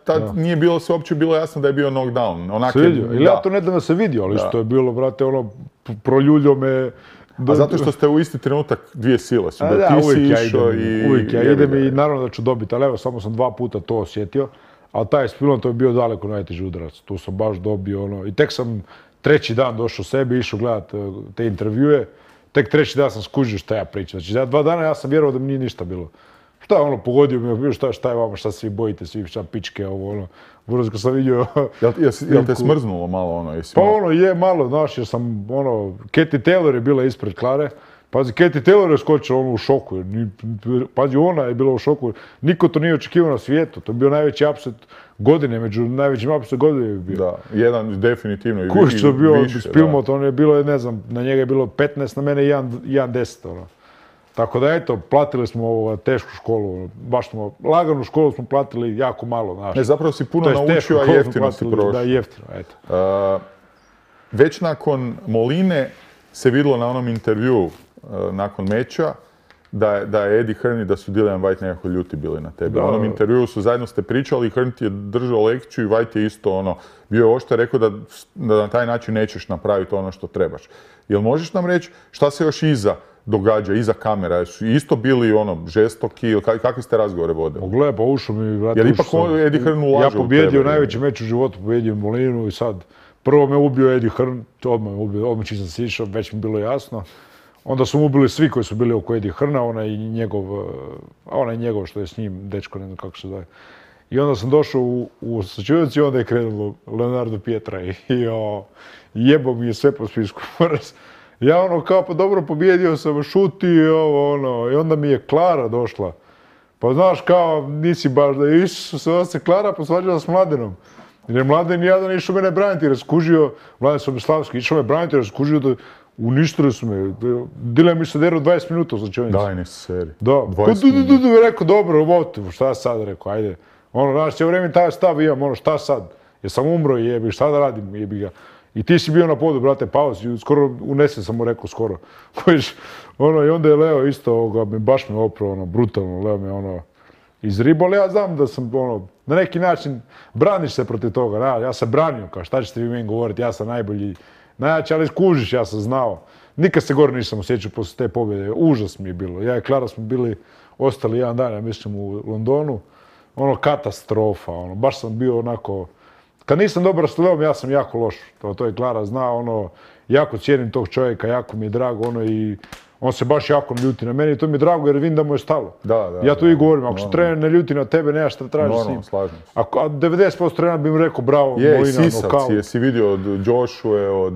Tad nije bilo se uopće bilo jasno da je bio knockdown. Se vidio. Ili ja to ne da se vidio, ali što je bilo, brate, ono, proljuljo me... A zato što ste u isti trenutak dvije sile su. Da, uvijek ja idem i naravno da ću dobiti, ali evo, samo sam 2 puta to osjetio. Ali taj Spilman, to je bio daleko najteži udarac. Tu sam baš dobio ono... I tek sam 3. dan došao sebi, išao gledat te intervjue. Tek 3. dan sam skužio šta ja pričam. Znači, 2 dana ja sam vjerovao da mi nije ništa bilo. Šta je ono, pogodio mi, šta je vama, šta se vi bojite, svi šta pičke, ovo ono. Buraz kad sam vidio... Jel te smrznulo malo ono? Pa ono, je malo, znaš, jer sam ono... Katie Taylor je bila ispred Klare. Pazi, Katie Taylor je skočila ono u šoku. Pazi, ona je bila u šoku. Niko to nije očekivao na svijetu. To je bio najveći upset godine, među najvećim upset godine je bio. Da, jedan definitivno i više. Kuš što je bio Spilmot, on je bilo, ne znam, na njega je bilo 15, na mene 1,10. Ono. Tako da eto, platili smo tešku školu, baš smo, laganu školu smo platili jako malo. Znaš. Ne, zapravo si puno naučio, a jeftino si prošao. Da, jeftino, eto. Već nakon Moline se vidjelo na onom intervjuu nakon meča da je Eddie Hearn i da su Dillian Whyte nekako ljuti bili na tebe. U onom intervjuu su zajedno ste pričali i Hearn ti je držao lekciju i Whyte je isto ono, bio je oštro rekao da na taj način nećeš napraviti ono što trebaš. Jel možeš nam reći šta se još iza događa, iza kamera? Su isto bili ono žestoki ili kakvi ste razgovore vodili? Gle, pa ušao mi, vrati, jer ipak Eddie Hearn ulaže u tebe. Ja pobjedio najveći meč u životu, pobjedio Molinu i sad prvo me ubio Eddie Hearn, odmah me ubio, odmah čim sam se išao, već mi bilo jasno. Onda su mu ubili svi koji su bili oko Eddie Hearna, onaj njegov što je s njim, dečko, ne znam kako se zove. I onda sam došao u sačuvac i onda je krenulo Leonardo Pietra i jebo mi je sve po spisku. Ja ono kao pa dobro pobjedio sam, šuti i i onda mi je Klara došla. Pa znaš kao nisi baš da išao se Klara posvađala s Mladenom. Jer je Mladen jadan išao mene braniti jer je skužio, Mladen Sobislavski, išao me braniti jer je skužio da uništili su me. Dillian mi se derao 20 minuta u slačionici. Daj, nisi seri. Da. 20 minuta. Rekao, dobro, šta sad, rekao, ajde. Ono, znaš, cijelo vrijeme taj stav imam, ono, šta sad? Jer sam umro i jebi, šta da radim, jebi ga. I ti si bio na podu, brate, pauzi, skoro unesen sam mu rekao, skoro. I onda je Leo isto, baš me oprao, brutalno, Leo me, izribao, ali ja znam da sam, na neki način, braniš se protiv toga, ja sam branio, kao šta ćete vi meni govoriti, ja sam najbolji, najjači, ali skužiš, ja sam znao. Nikad se gore nisam osjećao poslije te pobjede, užas mi je bilo. Ja i Klara smo bili, ostali jedan dan, ja mislim, u Londonu, katastrofa, baš sam bio onako, kad nisam dobar s Leom, ja sam jako loš, to je Klara zna, jako cijenim tog čovjeka, jako mi je drago, i on se baš jako ljuti na meni i to mi je drago jer vidim da mu je stalo. Ja to i govorim, ako se trener ne ljuti na tebe, nemaš šta tražiš s njim. A 90% trenera bi mi rekao bravo, Molina, sisavci, jesi vidio od Joshua,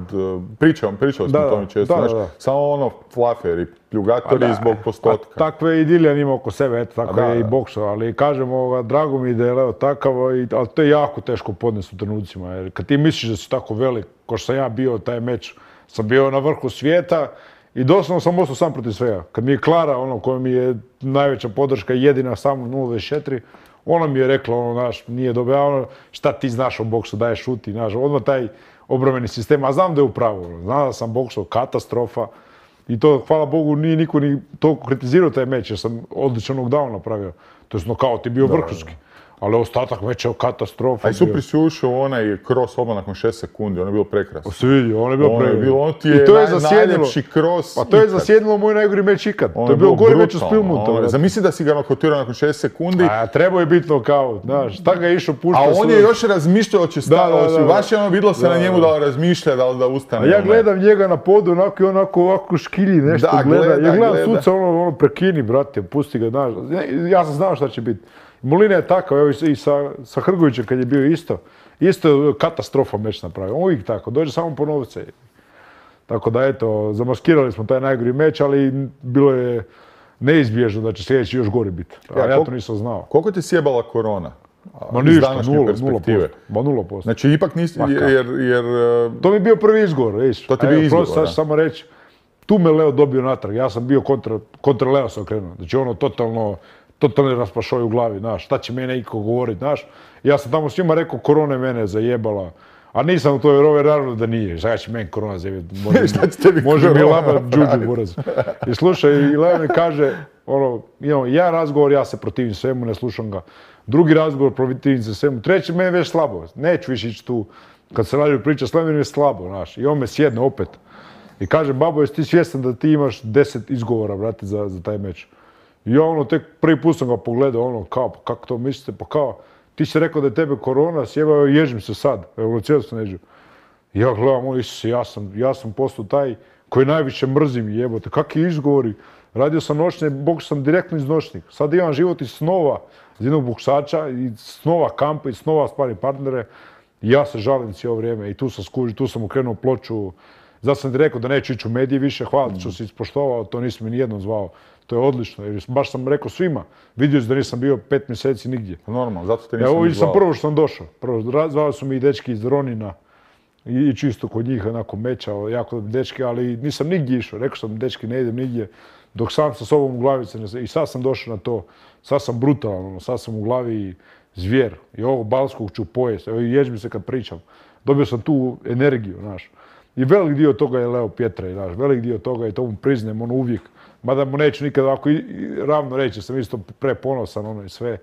pričali smo o tome često, samo flaferi, pljugatori zbog postotka. Takve je i Dillian ima oko sebe, eto, tako je i boksao, ali kažem, drago mi da je Leo takav, ali to je jako teško podnesti u trenucima, jer kad ti misliš da si tako velik, ko što sam ja bio taj meč, sam bio na vrhu svijeta, i doslovno sam ostao sam protiv svega. Kad mi je Klara, koja mi je najveća podrška, jedina samo 0,24, ona mi je rekla, nije dobro, šta ti znaš o boksu, daj šuti, odmah taj obrambeni sistem, a znam da je u pravu, znam da sam boksao, katastrofa, i to, hvala Bogu, nije niko ni toliko kritizirao taj meč, jer sam odličan knockdown napravio, to je nokaut je bio vrhunski. Ali ostatak meča je katastrofa. A i Supri si ušao onaj cross odmah nakon 6 sekundi, ono je bilo prekrasno. Se vidi, ono je bilo prekrasno. Ono ti je najljepši cross ikad. Pa to je zasjedilo moj najgori meč ikad. To je bio gori meč u Spilmonta. Zamisli da si ga nokotirao nakon 6 sekundi. A trebao je biti nokaut, znaš, šta ga je išao puštao. A on je još razmišljao će staviti, baš je vidjelo se na njemu da razmišlja da ustane. A ja gledam njega na podu, ovako škilji nešto gleda. Ja gledam suca, prekini, brate, pusti ga, znaš. Ja sam znao šta će biti. Molina je takav, evo i sa Hrgovićem kad je bio isto je katastrofa meč napravio, uvijek tako, dođe samo po novce. Tako da eto, zamaskirali smo taj najgori meč, ali bilo je neizbježno da će sljedeći još gori biti. Ja to nisam znao. Koliko ti sjebala korona? Ma ništa, 0%. Ma 0%. Znači ipak nisi, jer... To mi je bio prvi izgovor, vidiš. To ti je bio izgovor, da. Sad ću samo reći, tu me Leo dobio natrag, ja sam bio kontra Leo se okrenuo. Znači totalni raspašoj u glavi, znaš, šta će mene iko govoriti, znaš. Ja sam tamo svima rekao, korona je mene zajebala. A nisam u toj rove naravno da nije. Šta će meni korona zajebati? Može mi lama džuđu buraz. I slušaj, i Leo mi kaže, imamo jedan razgovor, ja se protivim svemu, ne slušam ga. Drugi razgovor, protivim se svemu. Treći, meni već slabo. Neću više ići tu. Kad se radi priča s Levim, je slabo, znaš. I on me sjedne opet. I kaže, babo, jesi ti svjestan da ti imaš 10 izgovora, brate, za taj meč? I ja tek prvi put sam ga pogledao, kao, pa kako to mislite? Pa kao, ti si rekao da je tebe korona, sjebao, ježim se sad. Evo, cijelo sam neđu. I ja gledam, Isuse, ja sam postao taj koji najviše mrzim, jebote. Kakvi izgovori? Radio sam noćne, boks sam direktno iz noćnih. Sad imam život iz snova, iz jednog boksača, i snova kampa, i snova spari partnere. I ja se žalim cijelo vrijeme i tu sam skužio, tu sam okrenuo ploču. Zato sam ti rekao da neću ići u medije više, hvala ti što si ispoštovao, to nisi mi nijednom zvao. To je odlično, jer baš sam rekao svima. Vidio si da nisam bio 5 mjeseci nigdje. Normalno, zato te nisam zvao. Evo, sam prvo što sam došao. Zvali su mi i dečki iz Ronina i čisto kod njih onako mečao, jako dečki, ali nisam nigdje išao. Rekao sam, dečki, ne idem nigdje, dok sam sa sobom u glavi i sad sam došao na to. Sad sam brutalan, sad sam u glavi zvijer. I ovo balskog ću pojesti, evo ježim se kad pričam. Dobio sam tu energiju, znaš. I velik dio toga je Leo Pjetra, znaš, velik dio toga i to mu priznajem, uvijek. Mada mu neću nikad ovako ravno reći, sam isto preponosan, i sve.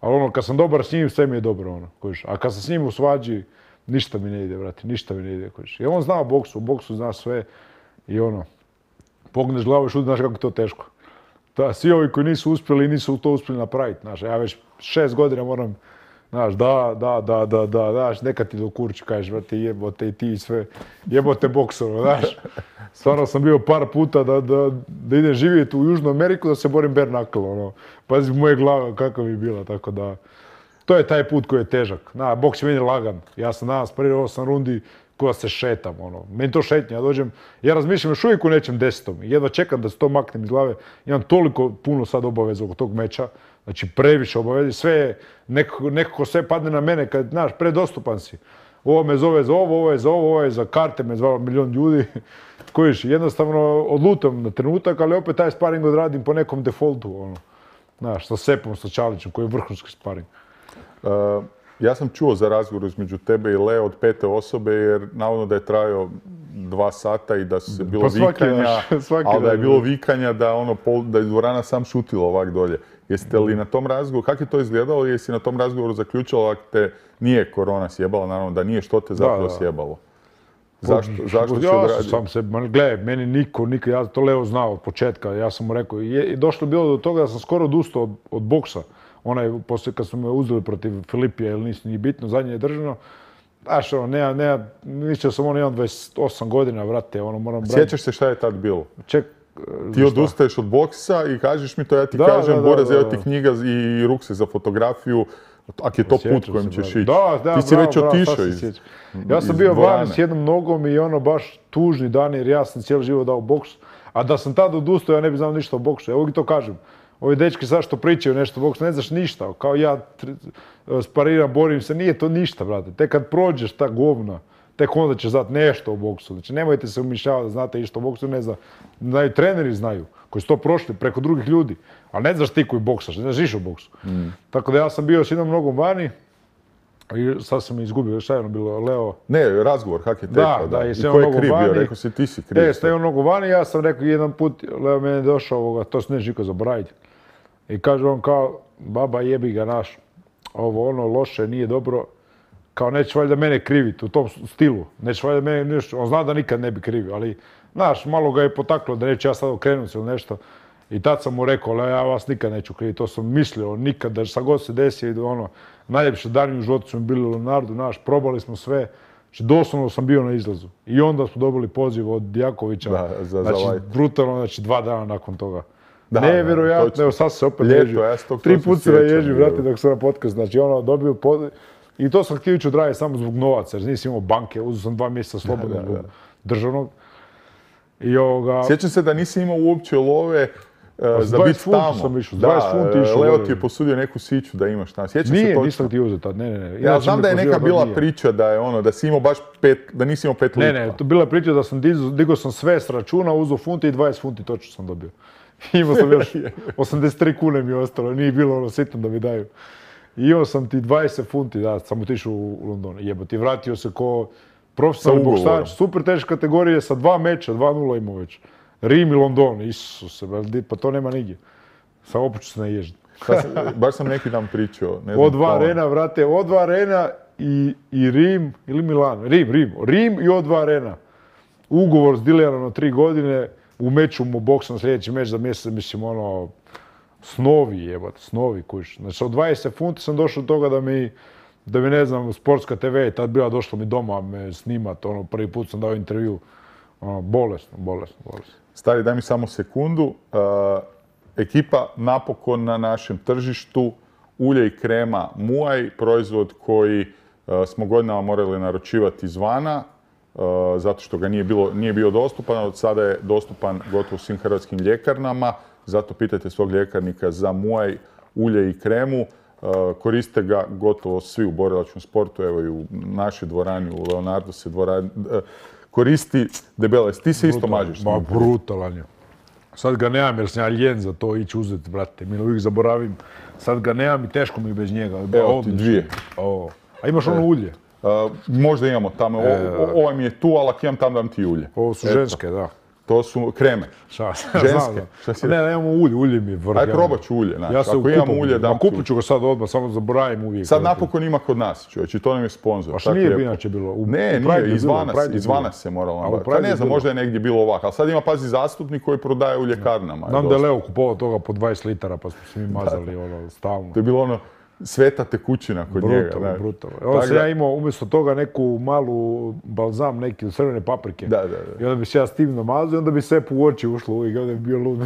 Ali kad sam dobar s njim, sve mi je dobro, kojiš. A kad sam s njim u svađi, ništa mi ne ide, brate, ništa mi ne ide, kojiš. I on zna u boksu zna sve i pogneš glavu i šuti, znaš kako je to teško. Svi ovi koji nisu uspjeli, nisu to uspjeli napraviti, znaš. Ja već 6 godina moram, znaš, znaš, neka ti do kurči, kažeš, brate, jebote i ti i sve, jebote boksova, znaš. Stvarno sam bio par puta da idem živjeti u Južnu Ameriku, da se borim bare knuckle, Pazi, moje glava kakva bi bila, tako da. To je taj put koji je težak. Boks je meni lagan. Ja sam danas prije 8 rundi koja se šetam, Meni to šetnja, ja dođem, ja razmišljam još uvijek u nečem desetom. Jedva čekam da se to maknem iz glave. Imam toliko puno sad obaveza oko tog meča. Znači, previše obaveza. Sve je, nekako sve padne na mene kad, znaš, predostupan si. Ovo me zove za ovo je za ovo, ovo je za karte, me zvalo milion ljudi. Kojiš, jednostavno odlutam na trenutak, ali opet taj sparing odradim po nekom defaultu, Znaš, sa Sepom, sa Čalićem, koji je vrhunski sparing. Ja sam čuo za razgovor između tebe i Leo od 5. osobe, jer navodno da je trajao 2 sata i da se bilo vikanja, ali da je bilo vikanja da je dvorana sam šutila ovak dolje. Jeste li na tom razgovoru, kako je to izgledalo, jesi na tom razgovoru zaključila ako te nije korona sjebala, naravno da nije, što te zapravo sjebalo? Zašto si odradio? Gledaj, meni niko, ja to Leo znao od početka, ja sam mu rekao, došlo je bilo do toga da sam skoro odustao od boksa. Poslije kad smo me uzeli protiv Filipija, ili nisi ni bitno, zadnje je držano. Znaš, mislio sam imam 28 godina, vrate, moram braniti. Sjećaš se šta je tad bilo? Ti odustaješ od boksa i kažeš mi to, ja ti kažem, Boraz, evo ti knjiga i ruksak za fotografiju, ako je to put kojim ćeš ići. Ti si već otišao iz Ja sam bio van s jednom nogom i baš tužni dan, jer ja sam cijeli život dao boks. A da sam tada odustao, ja ne bi znao ništa o boksu. Ja uvijek to kažem. Ovi dečki sad što pričaju nešto o boksu, ne znaš ništa. Kao ja spariram, borim se, nije to ništa, brate. Tek kad prođeš ta govna, tek onda ćeš znati nešto o boksu. Znači, nemojte se umišljavati da znate išto o boksu, ne znaju treneri znaju, koji su to prošli preko drugih ljudi. Ali ne znaš ti koji boksaš, ne znaš ništa o boksu. Tako da ja sam bio s jednom nogom vani, i sad sam izgubio, šta je bilo, Leo? Ne, razgovor, kak je tekao, da. I ko je kriv bio, rekao si ti si kriv. S jednom nogom vani, ja sam rekao jedan put, Leo mene došao, to se ne žiko zaboraviti. I kaže on kao, baba jebi ga naš, loše, nije dobro, kao nećeš valjda mene kriviti u tom stilu, nećeš valjda mene nešto, on zna da nikad ne bi krivio, ali, znaš, malo ga je potaklo da neću ja sad okrenut se ili nešto. I tad sam mu rekao, ali ja vas nikad neću kriviti, to sam mislio, nikad, da šta god se desi, najljepše dani u životu su mi bili u Leonardu, znaš, probali smo sve, znači doslovno sam bio na izlazu. I onda smo dobili poziv od Jakovića, znači brutalno, znači 2 dana nakon toga. Nevjerojatno, evo sad se opet ježio. 3 puta se ježio, vrati, dok sam na podcast. Znači, dobio poziv. I to sam htio ići odraditi samo zbog novaca, jer nisam imao banke, uzeo sam 2 mjeseca slobodno zbog državnog. Sjećam se da nisi imao uopće love za biti tamo. Sam išao, 20 funti išao. Leo ti je posudio neku siću da imaš tamo. Sjećam se točno. Nisam ti uzeo tad, ne. Ja znam da je neka bila priča da je da si imao baš 5, da nisi imao 5 lipa. Ne, to bila priča da sam digao sam sve s računa, uzeo funti i 20 funti točno sam dobio. Imao sam još 83 kune mi je ostalo, nije bilo sitno da mi daju. I imao sam ti 20 funti, da, sam otišao u London. Jebote, vratio se ko profesionalni boksač, super teške kategorije, sa 2 meča, 2-0 imao već. Rim i London, Isuse, pa to nema nigdje. Samo počeo se naježiti. Baš sam neki dan pričao. O2 Arena, vrate, O2 Arena i Rim, ili Milan, Rim i O2 Arena. Ugovor s dilerom na 3 godine, u meču mu boksam sljedeći meč za mjesec, mislim, ono, snovi jebate, snovi kuć. Znači, od 20 funti sam došao do toga da mi, ne znam, Sportska TV je tad bila došla mi doma me snimat, ono, prvi put sam dao intervju. Ono, bolesno. Stari, daj mi samo sekundu. Ekipa napokon na našem tržištu, ulje i krema Muay, proizvod koji smo godinama morali naručivati izvana, zato što ga nije bio dostupan, od sada je dostupan gotovo svim hrvatskim ljekarnama, zato pitajte svog ljekarnika za Muay, ulje i kremu. Koriste ga gotovo svi u borilačkom sportu, evo i u našoj dvorani, u Leonardo se dvorani koristi debele. Ti se isto mažeš. Ma, brutalan je. Sad ga nemam jer sam ja ljen za to ići uzeti, brate. Mi uvijek zaboravim. Sad ga nemam i teško mi bez njega. Evo ti 2. A imaš ono ulje? Možda imamo tamo. Ovaj mi je tu, ali ako imam tam dam ti ulje. Ovo su ženske, da. To su kreme. Ženske. Ne, imamo ulje mi je vrh. Aj probat ću ulje. Ako imamo ulje, dam kupit ću ga sad odmah, samo zaboravim uvijek. Sad napokon ima kod nas, čovječ, i to nam je sponsor. A što nije bi inače bilo? Ne, nije, izvana se moralo nabaviti. Ne znam, možda je negdje bilo ovako, ali sad ima, pazi, zastupnik koji prodaje u ljekarnama. Znam da je Leo kupovao toga po 20 litara, pa smo se mi mazali ono stalno. To je bilo ono sveta tekućina kod njega. Brutalno. Onda sam ja imao umjesto toga neku malu balzam, neki od crvene paprike. I onda bi se ja s tim namazao i onda bi sve u oči ušlo uvijek, onda bi bio lud.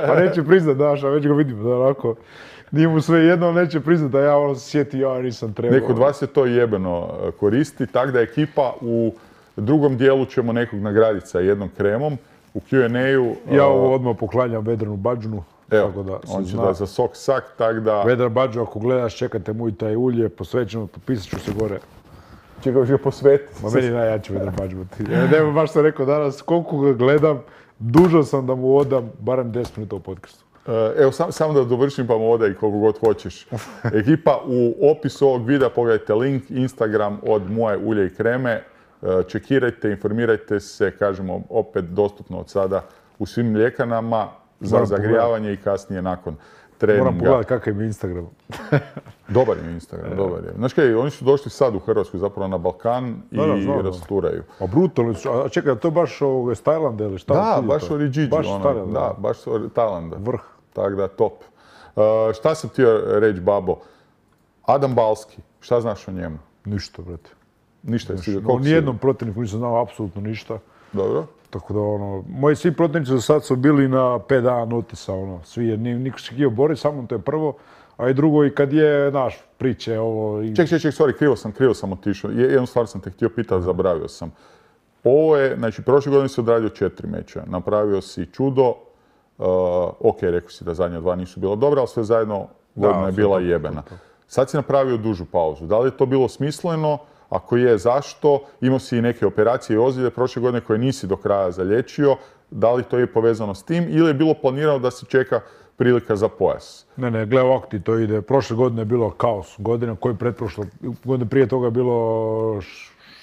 Pa neće priznat, daš, a već ga vidim, da onako, nije mu sve jedno, neće priznat da ja ono se sjeti, ja nisam trebao. Neko od vas je to jebeno koristi, tako da ekipa u drugom dijelu ćemo nekog nagraditi sa jednom kremom. U Q&A-u... Ja ovo odmah poklanjam Vedranu Badžunu. Evo, on će da za sok sak, tak da... Vedran Badžo, ako gledaš, čekate mu i taj ulje, posvećeno, potpisat ću se gore. Čekaj, još ga posvetiti. Ma meni najjači Vedran Badžo. Nema, baš sam rekao danas, koliko ga gledam, dužan sam da mu odam barem 10 minuta u podcastu. Evo, samo da dovršim pa mu odaj koliko god hoćeš. Ekipa, u opisu ovog videa pogledajte link, Instagram od Muay ulje i kreme. Čekirajte, informirajte se, kažemo, opet dostupno od sada u svim ljekarnama. Za zagrijavanje i kasnije nakon treninga. Moram pogledati kakav je Instagram. Dobar je Instagram, dobar je. Znaš kaj, oni su došli sad u Hrvatsku, zapravo na Balkan i rasturaju. A brutalno su, a čekaj, to je baš iz Tajlanda ili šta? Da, baš Origigi. Baš Tajlanda. Da, baš Tajlanda. Vrh. Tako da, top. Šta sam htio reći, Babo? Adam Balski, šta znaš o njemu? Ništa, brate. Ništa je sigurno. O nijednom protivniku nisam znao apsolutno ništa. Dobro. Tako da, moji svi protivnici za sad su bili na 5 dana notisa, svi, jer niko se htio boriti, samo to je prvo, a i drugo, i kad je, naš, priče, ovo... Ček, sorry, krivo sam otišao. Jednu stvar sam te htio pitati, zaboravio sam. Ovo je, znači, prošle godine si odradio 4 meča, napravio si čudo, ok, rekao si da zadnja 2 nisu bila dobra, ali sve zajedno godina je bila jebena. Sad si napravio dužu pauzu. Da li je to bilo smisleno? Ako je, zašto? Imao si i neke operacije i ozljede prošle godine koje nisi do kraja zalječio. Da li to je povezano s tim ili je bilo planirano da se čeka prilika za pojas? Ne, gle, ovako ti to ide. Prošle godine je bilo kaos. Godina koji godine prije toga je bilo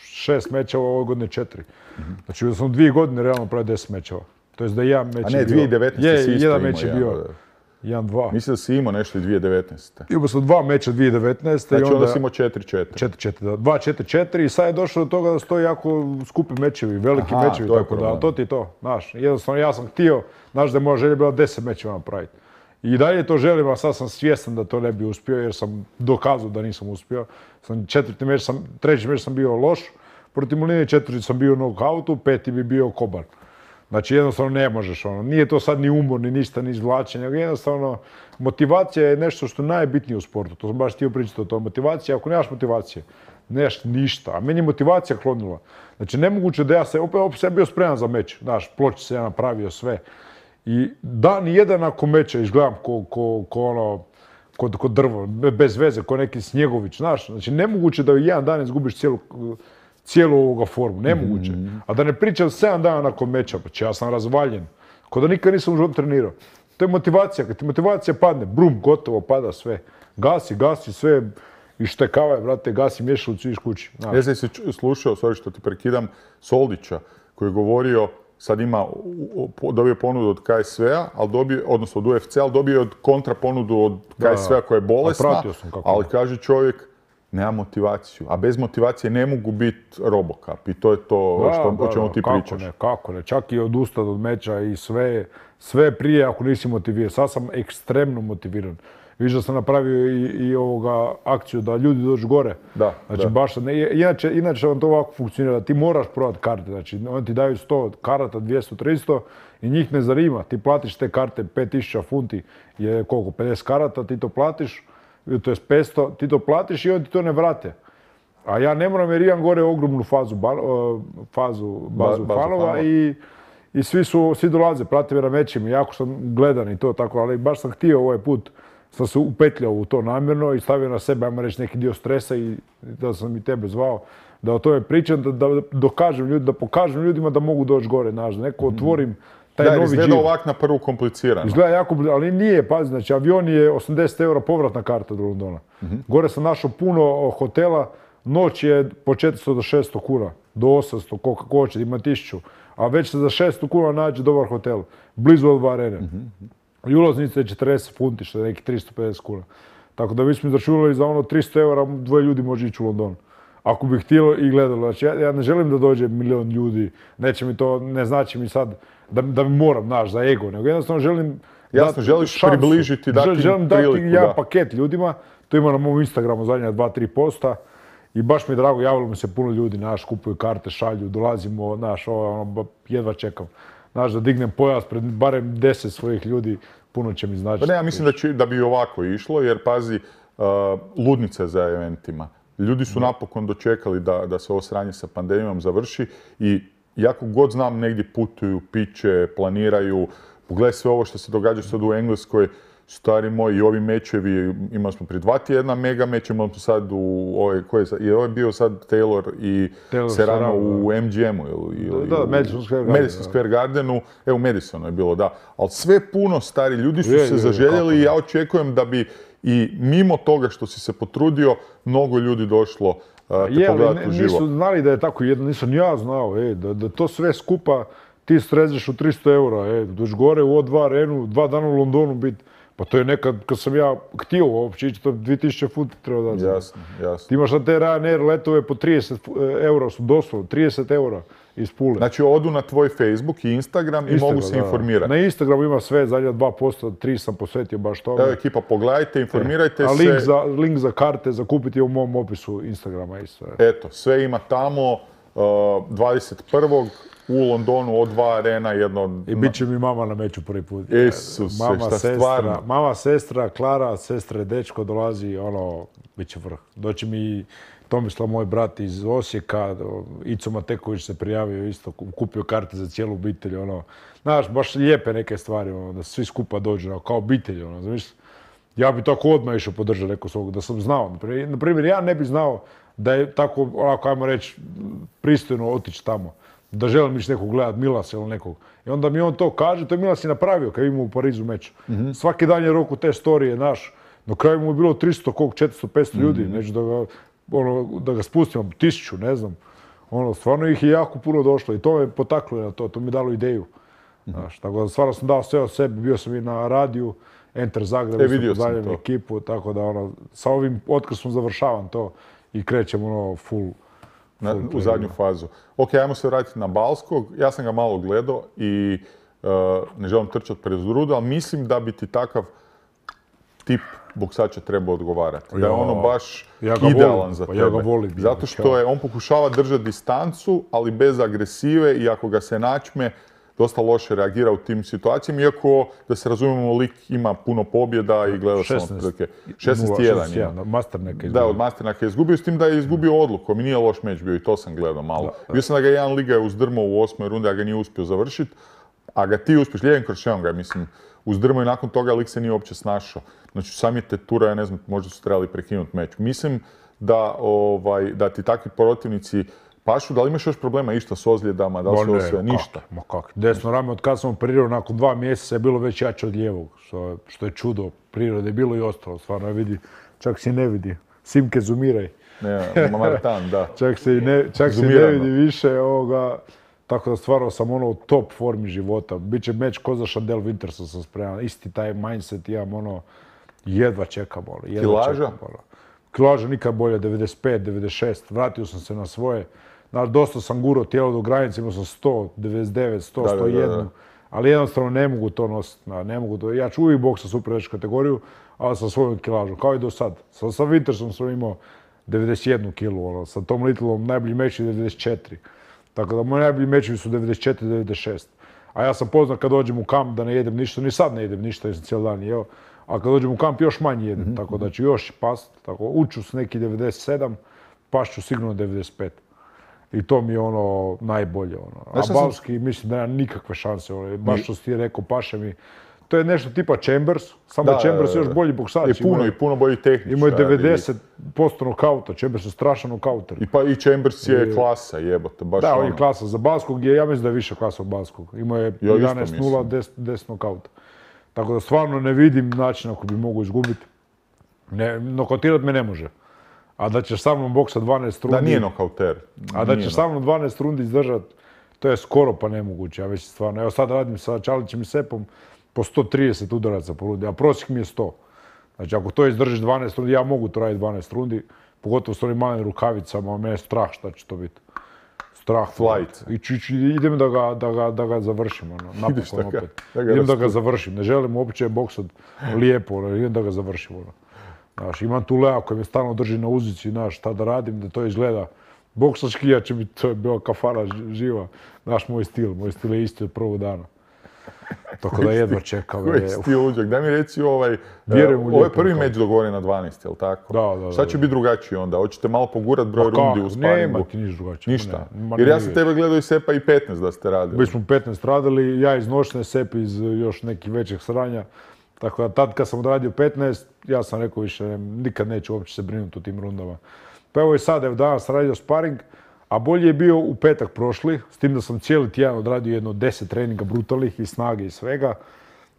6 mečeva, ove godine 4. Znači, da sam 2 godine realno pravio 10 mečeva. To je da jedan meč je bio. A ne, 2019. si isto jedan meč je bio. 1-2. Mislim da si imao nešto i 2019. Imao sam 2 meča 2019. Znači onda si imao 4-4. 4-4, da. 2-4-4 i sad je došlo do toga da stoji jako skupi mečevi, veliki mečevi, tako da, to ti to, znaš. Jednostavno ja sam htio, znaš da je moja želja bila 10 mečeva napraviti. I dalje to želim, a sad sam svjestan da to ne bi uspio jer sam dokazao da nisam uspio. Treći meč sam bio loš, protiv Moline 4 sam bio u knockoutu, 5 bi bio koban. Znači jednostavno ne možeš, nije to sad ni umor, ni ništa, ni izvlačenje, nego jednostavno motivacija je nešto što je najbitnije u sportu. To sam baš htio pričati o toj motivaciji. Ako nemaš motivacije, nemaš ništa. A meni je motivacija klonila. Znači nemoguće da ja opet sam bio spreman za meč. Znaš, ploče se ja napravio sve. I dan i jedan nakon meča izgledam ko drvo, bez veze, ko neki Snjegović, znaš. Znači nemoguće da u jedan dan izgubiš cijelu ovoga formu, nemoguće. A da ne pričam 7 dana nakon meča, pa ja sam razvaljen. Ko da nikad nisam u životu trenirao. To je motivacija. Kad ti motivacija padne, brum, gotovo, pada sve. Gasi sve, ištekava je, brate, gasi mješalicu i iš kući. Ja sam si slušao, sorry što ti prekidam, Soldića, koji je govorio, sad dobio ponudu od KSV-a, odnosno od UFC-a, ali dobio je kontra ponudu od KSV-a koja je bolesna, ali kaže čovjek, nema motivaciju, a bez motivacije ne mogu biti Robocop i to je to o čemu ti pričaš. Kako ne, čak i odustati od meča i sve prije ako nisi motiviran. Sad sam ekstremno motiviran. Viš da sam napravio i akciju da ljudi dođu gore. Znači, baš, inače vam to ovako funkcionira, da ti moraš prodati karte. Znači, oni ti daju 100 karata, 200, 300 i njih ne zanima. Ti platiš te karte, 5000 funti je koliko, 50 karata, ti to platiš, to je 500, ti to platiš i oni ti to ne vrate. A ja ne moram jer imam gore ogromnu bazu fanova i svi dolaze, prate me na mečima, jako sam gledan i to tako, ali baš sam htio ovaj put, sam se upetljao u to namjerno i stavio na sebe, ajmo reći, neki dio stresa i da sam i tebe zvao, da o tome pričam, da pokažem ljudima da mogu doći gore, znaš, da neko otvorim taj novi džir. Da, izgleda ovak na prvu komplicirano. Izgleda jako, ali nije, pazi, znači avion je 80 € povratna karta do Londona. Gore sam našao puno hotela, noć je po 400 do 600 kuna, do 800, koliko hoće, ima 1000, a već se za 600 kuna nađe dobar hotel, blizu od dva arene. I ulaznica je 40 funti, što je neki 350 kuna. Tako da mi smo izračunali za ono 300 € dvoje ljudi može ići u London. Ako bi htjelo i gledalo. Znači, ja ne želim da dođe milion ljudi, neće mi to, ne znači mi sad da mi moram, znaš, za ego, nego jednostavno želim jasno, želiš približiti, dati priliku. Želim dati jedan paket ljudima, to ima na mom Instagramu zadnja 2-3 posta i baš mi je drago, javilo mi se puno ljudi, znaš, kupuju karte, šalju, dolazimo, znaš, jedva čekam. Znaš, da dignem pojas pred barem 10 svojih ljudi, puno će mi značiti. Pa ne, ja mislim da bi ovako išlo, jer pazi, ludnice za eventima. Ljudi su napokon dočekali da se ovo sranje sa pandemijom završi i jako god znam negdje putuju, piće, planiraju. Pogledaj sve ovo što se događa sad u Engleskoj, stari moji, i ovi mečevi, imali smo prije 2 tjedna mega meč, imali smo sad je ovo bio sad Taylor i Serrano u MGM-u ili da, Madison Square Gardenu, u Madisonu je bilo, da. Ali sve puno, stari, ljudi su se zaželjeli i ja očekujem da bi i mimo toga što si se potrudio, mnogo ljudi došlo te pogledati uživo. Nisu znali da je tako jedno, nisam ja znao, da to sve skupa ti srežeš u 300 €, dođi gore u O2 arenu, 2 dana u Londonu biti. Pa to je nekad, kad sam ja htio uopće ići, to 2000 funti treba dati. Jasno. Ti imaš na te Ryanair letove po 30 € su doslovno, 30 € iz Pule. Znači odu na tvoj Facebook i Instagram i mogu se informirati. Na Instagramu ima sve, zadnja 2%, 3 sam posvetio baš tome. Evo ekipa, pogledajte, informirajte se. A link za karte za kupiti je u mom opisu Instagrama isto. Eto, sve ima tamo, 21. u Londonu, O2 arena, jedno... I bit će mi mama na meču prvi put. Isuse, šta stvarno? Mama, sestra, Klara, sestre, dečko dolazi, bit će vrh. Doći mi Tomislav, moj brat iz Osijeka, Ico Mateković se prijavio isto, kupio karte za cijelu obitelj, Znaš, baš lijepe neke stvari, da svi skupa dođu, kao obitelj, znaš. Ja bi tako odmah išao podržati neko svog, da sam znao. Na primjer, ja ne bi znao da je tako, ajmo reći, pristojno otići tamo. Da želim ići nekog gledat, Milasa ili nekog. I onda mi on to kaže, to je Milas i napravio kad imao u Parizu meč. Svaki dan je roku te storije, naš. Na kraju mu je bilo 300, 400, 500 ljudi, neću da ga spustimo, 1000, ne znam. Stvarno ih je jako puno došlo i to me potaklo na to mi je dalo ideju. Tako da stvarno sam dao sve od sebe, bio sam i na radiju, Enter Zagreb, vidio sam to. Ekipu, tako da sa ovim otkazom završavam to i krećem full. U zadnju fazu. Ok, ajmo se vratiti na Balskog. Ja sam ga malo gledao i ne želim trčati pred rudu, ali mislim da bi ti takav tip boksača trebao odgovarati. Da je baš idealan za tebe. Ja ga volim. Zato što on pokušava držati distancu, ali bez agresive i ako ga se načme, dosta loše reagira u tim situacijama, iako, da se razumijemo, lik ima puno pobjeda i gleda sam otprilike 16-1. Masternaka izgubio. Da, od Masternaka je izgubio, s tim da je izgubio odlukom i nije loš meč bio i to sam gledao malo. Bio sam da ga jedan liga je uzdrmao u 8. rundi, a ga nije uspio završiti, a ga ti uspješ, lijevim kroševom ga, mislim, uzdrmao i nakon toga lik se nije uopće snašao. Znači, sami te tura, ja ne znam, možda su trebali prekinuti meč. Mislim da ti takvi protivnici Pašu, da li imaš još problema išta s ozljedama, da li se sve, ništa? Ma kako, desno rame od kad sam operirao nakon 2 mjeseca je bilo već jače od lijevog, što je čudo prirode, je bilo i ostalo, stvarno ne vidi, čak se i ne vidi. Simke, zumiraj. Ne, Martan, da. Čak se i ne vidi više ovoga. Tako da stvarno sam u top formi života. Biće meč ko za Chandel Wintersa sam spreman. Isti taj mindset imam jedva čekam. Kilaža? Kilaža nikad bolje, 95, 96. Vratio sam se na svoje. Dosta sam gurao tijelo do granice, imao sam 100, 99, 100, 101. Ali jednostavno ne mogu to nositi. Ja ću uvijek boksa super veću kategoriju, ali sa svojom kilažom, kao i do sad. Sa Wintersom sam imao 91 kilu, sa Tom Littlom najbolji meč je 94. Tako da moji najbolji mečevi su 94, 96. A ja sam poznat kad dođem u kamp da ne jedem ništa, ni sad ne jedem ništa jer sam cijeli dan jeo. A kad dođem u kamp još manje jedem, tako da ću još past. Tako, uću s neki 97, pašću sigurno 95. I to mi je najbolje. A Balski mislim da nema nikakve šanse. Baš što si ti rekao, paše mi. To je nešto tipa Chambers, samo Chambers je još bolji boksač. I puno bolji tehničar. Imao je 90% nokauta, Chambers je strašan nokauter. I Chambers je klasa, jebote, baš Da, on je klasa. Za Balskog ja mislim da je više klasa od Balskog. Imao je 11-0, 10 nokauta. Tako da stvarno ne vidim način ako bi mogu izgubiti. Nokautirati me ne može. A da ćeš sa mnom boksa 12 rundi... Da, nije nokauter. A da ćeš sa mnom 12 rundi izdržati, to je skoro pa nemoguće. Ja već stvarno, evo sad radim sa Čalićem i Sepom po 130 udaraca po rundi, a prosjek mi je 100. Znači ako to izdržiš 12 rundi, ja mogu to raditi 12 rundi, pogotovo s onim malim rukavicama, mene je strah šta će to biti. Strah. Flight. Idem da ga završim, napokon opet. Idem da ga završim, ne želim uopće boksat lijepo, idem da ga završim. Znaš, imam tu Lea koji me stalno drži na uzici, znaš, šta da radim, da to izgleda. Boksački ja će mi, to je bila kafara živa, znaš, moj stil je isti od prvog dana. Tako da jedva čekam. Koji stil uđak? Daj mi reci ovo je prvi meč dogovoren na 12, jel tako? Da. Šta će biti drugačije onda? Hoćete malo pogurat broj rundi u sparingu? Nema ti ništa drugačije. Ništa? Jer ja sam tebe gledao i Sepa i 15 da ste radili. Mi smo 15 radili, ja iz noćne, Sep iz još nekih većih sranja. Tako da tad kad sam odradio 15, ja sam rekao više, nikad neću uopće se brinuti u tim rundama. Pa evo i sad, danas radio sparing, a bolje je bio u petak prošli, s tim da sam cijeli tjedan odradio jedno 10 treninga brutalnih i snage i svega.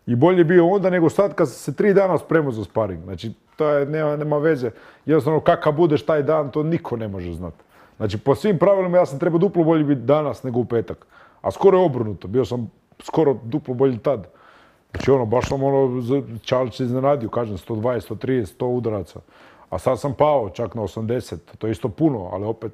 I bolje je bio onda nego sad kad sam se 3 dana spremao za sparing. Znači, to je, nema veze. Jednostavno, kakav budeš taj dan, to niko ne može znati. Znači, po svim pravilima ja sam trebao duplo bolje biti danas nego u petak. A skoro je obrnuto, bio sam skoro duplo bolji tad. Znači, baš sam Čalić se iznenadio, kažem, 120, 130, 100 udaraca. A sad sam pao čak na 80, to je isto puno, ali opet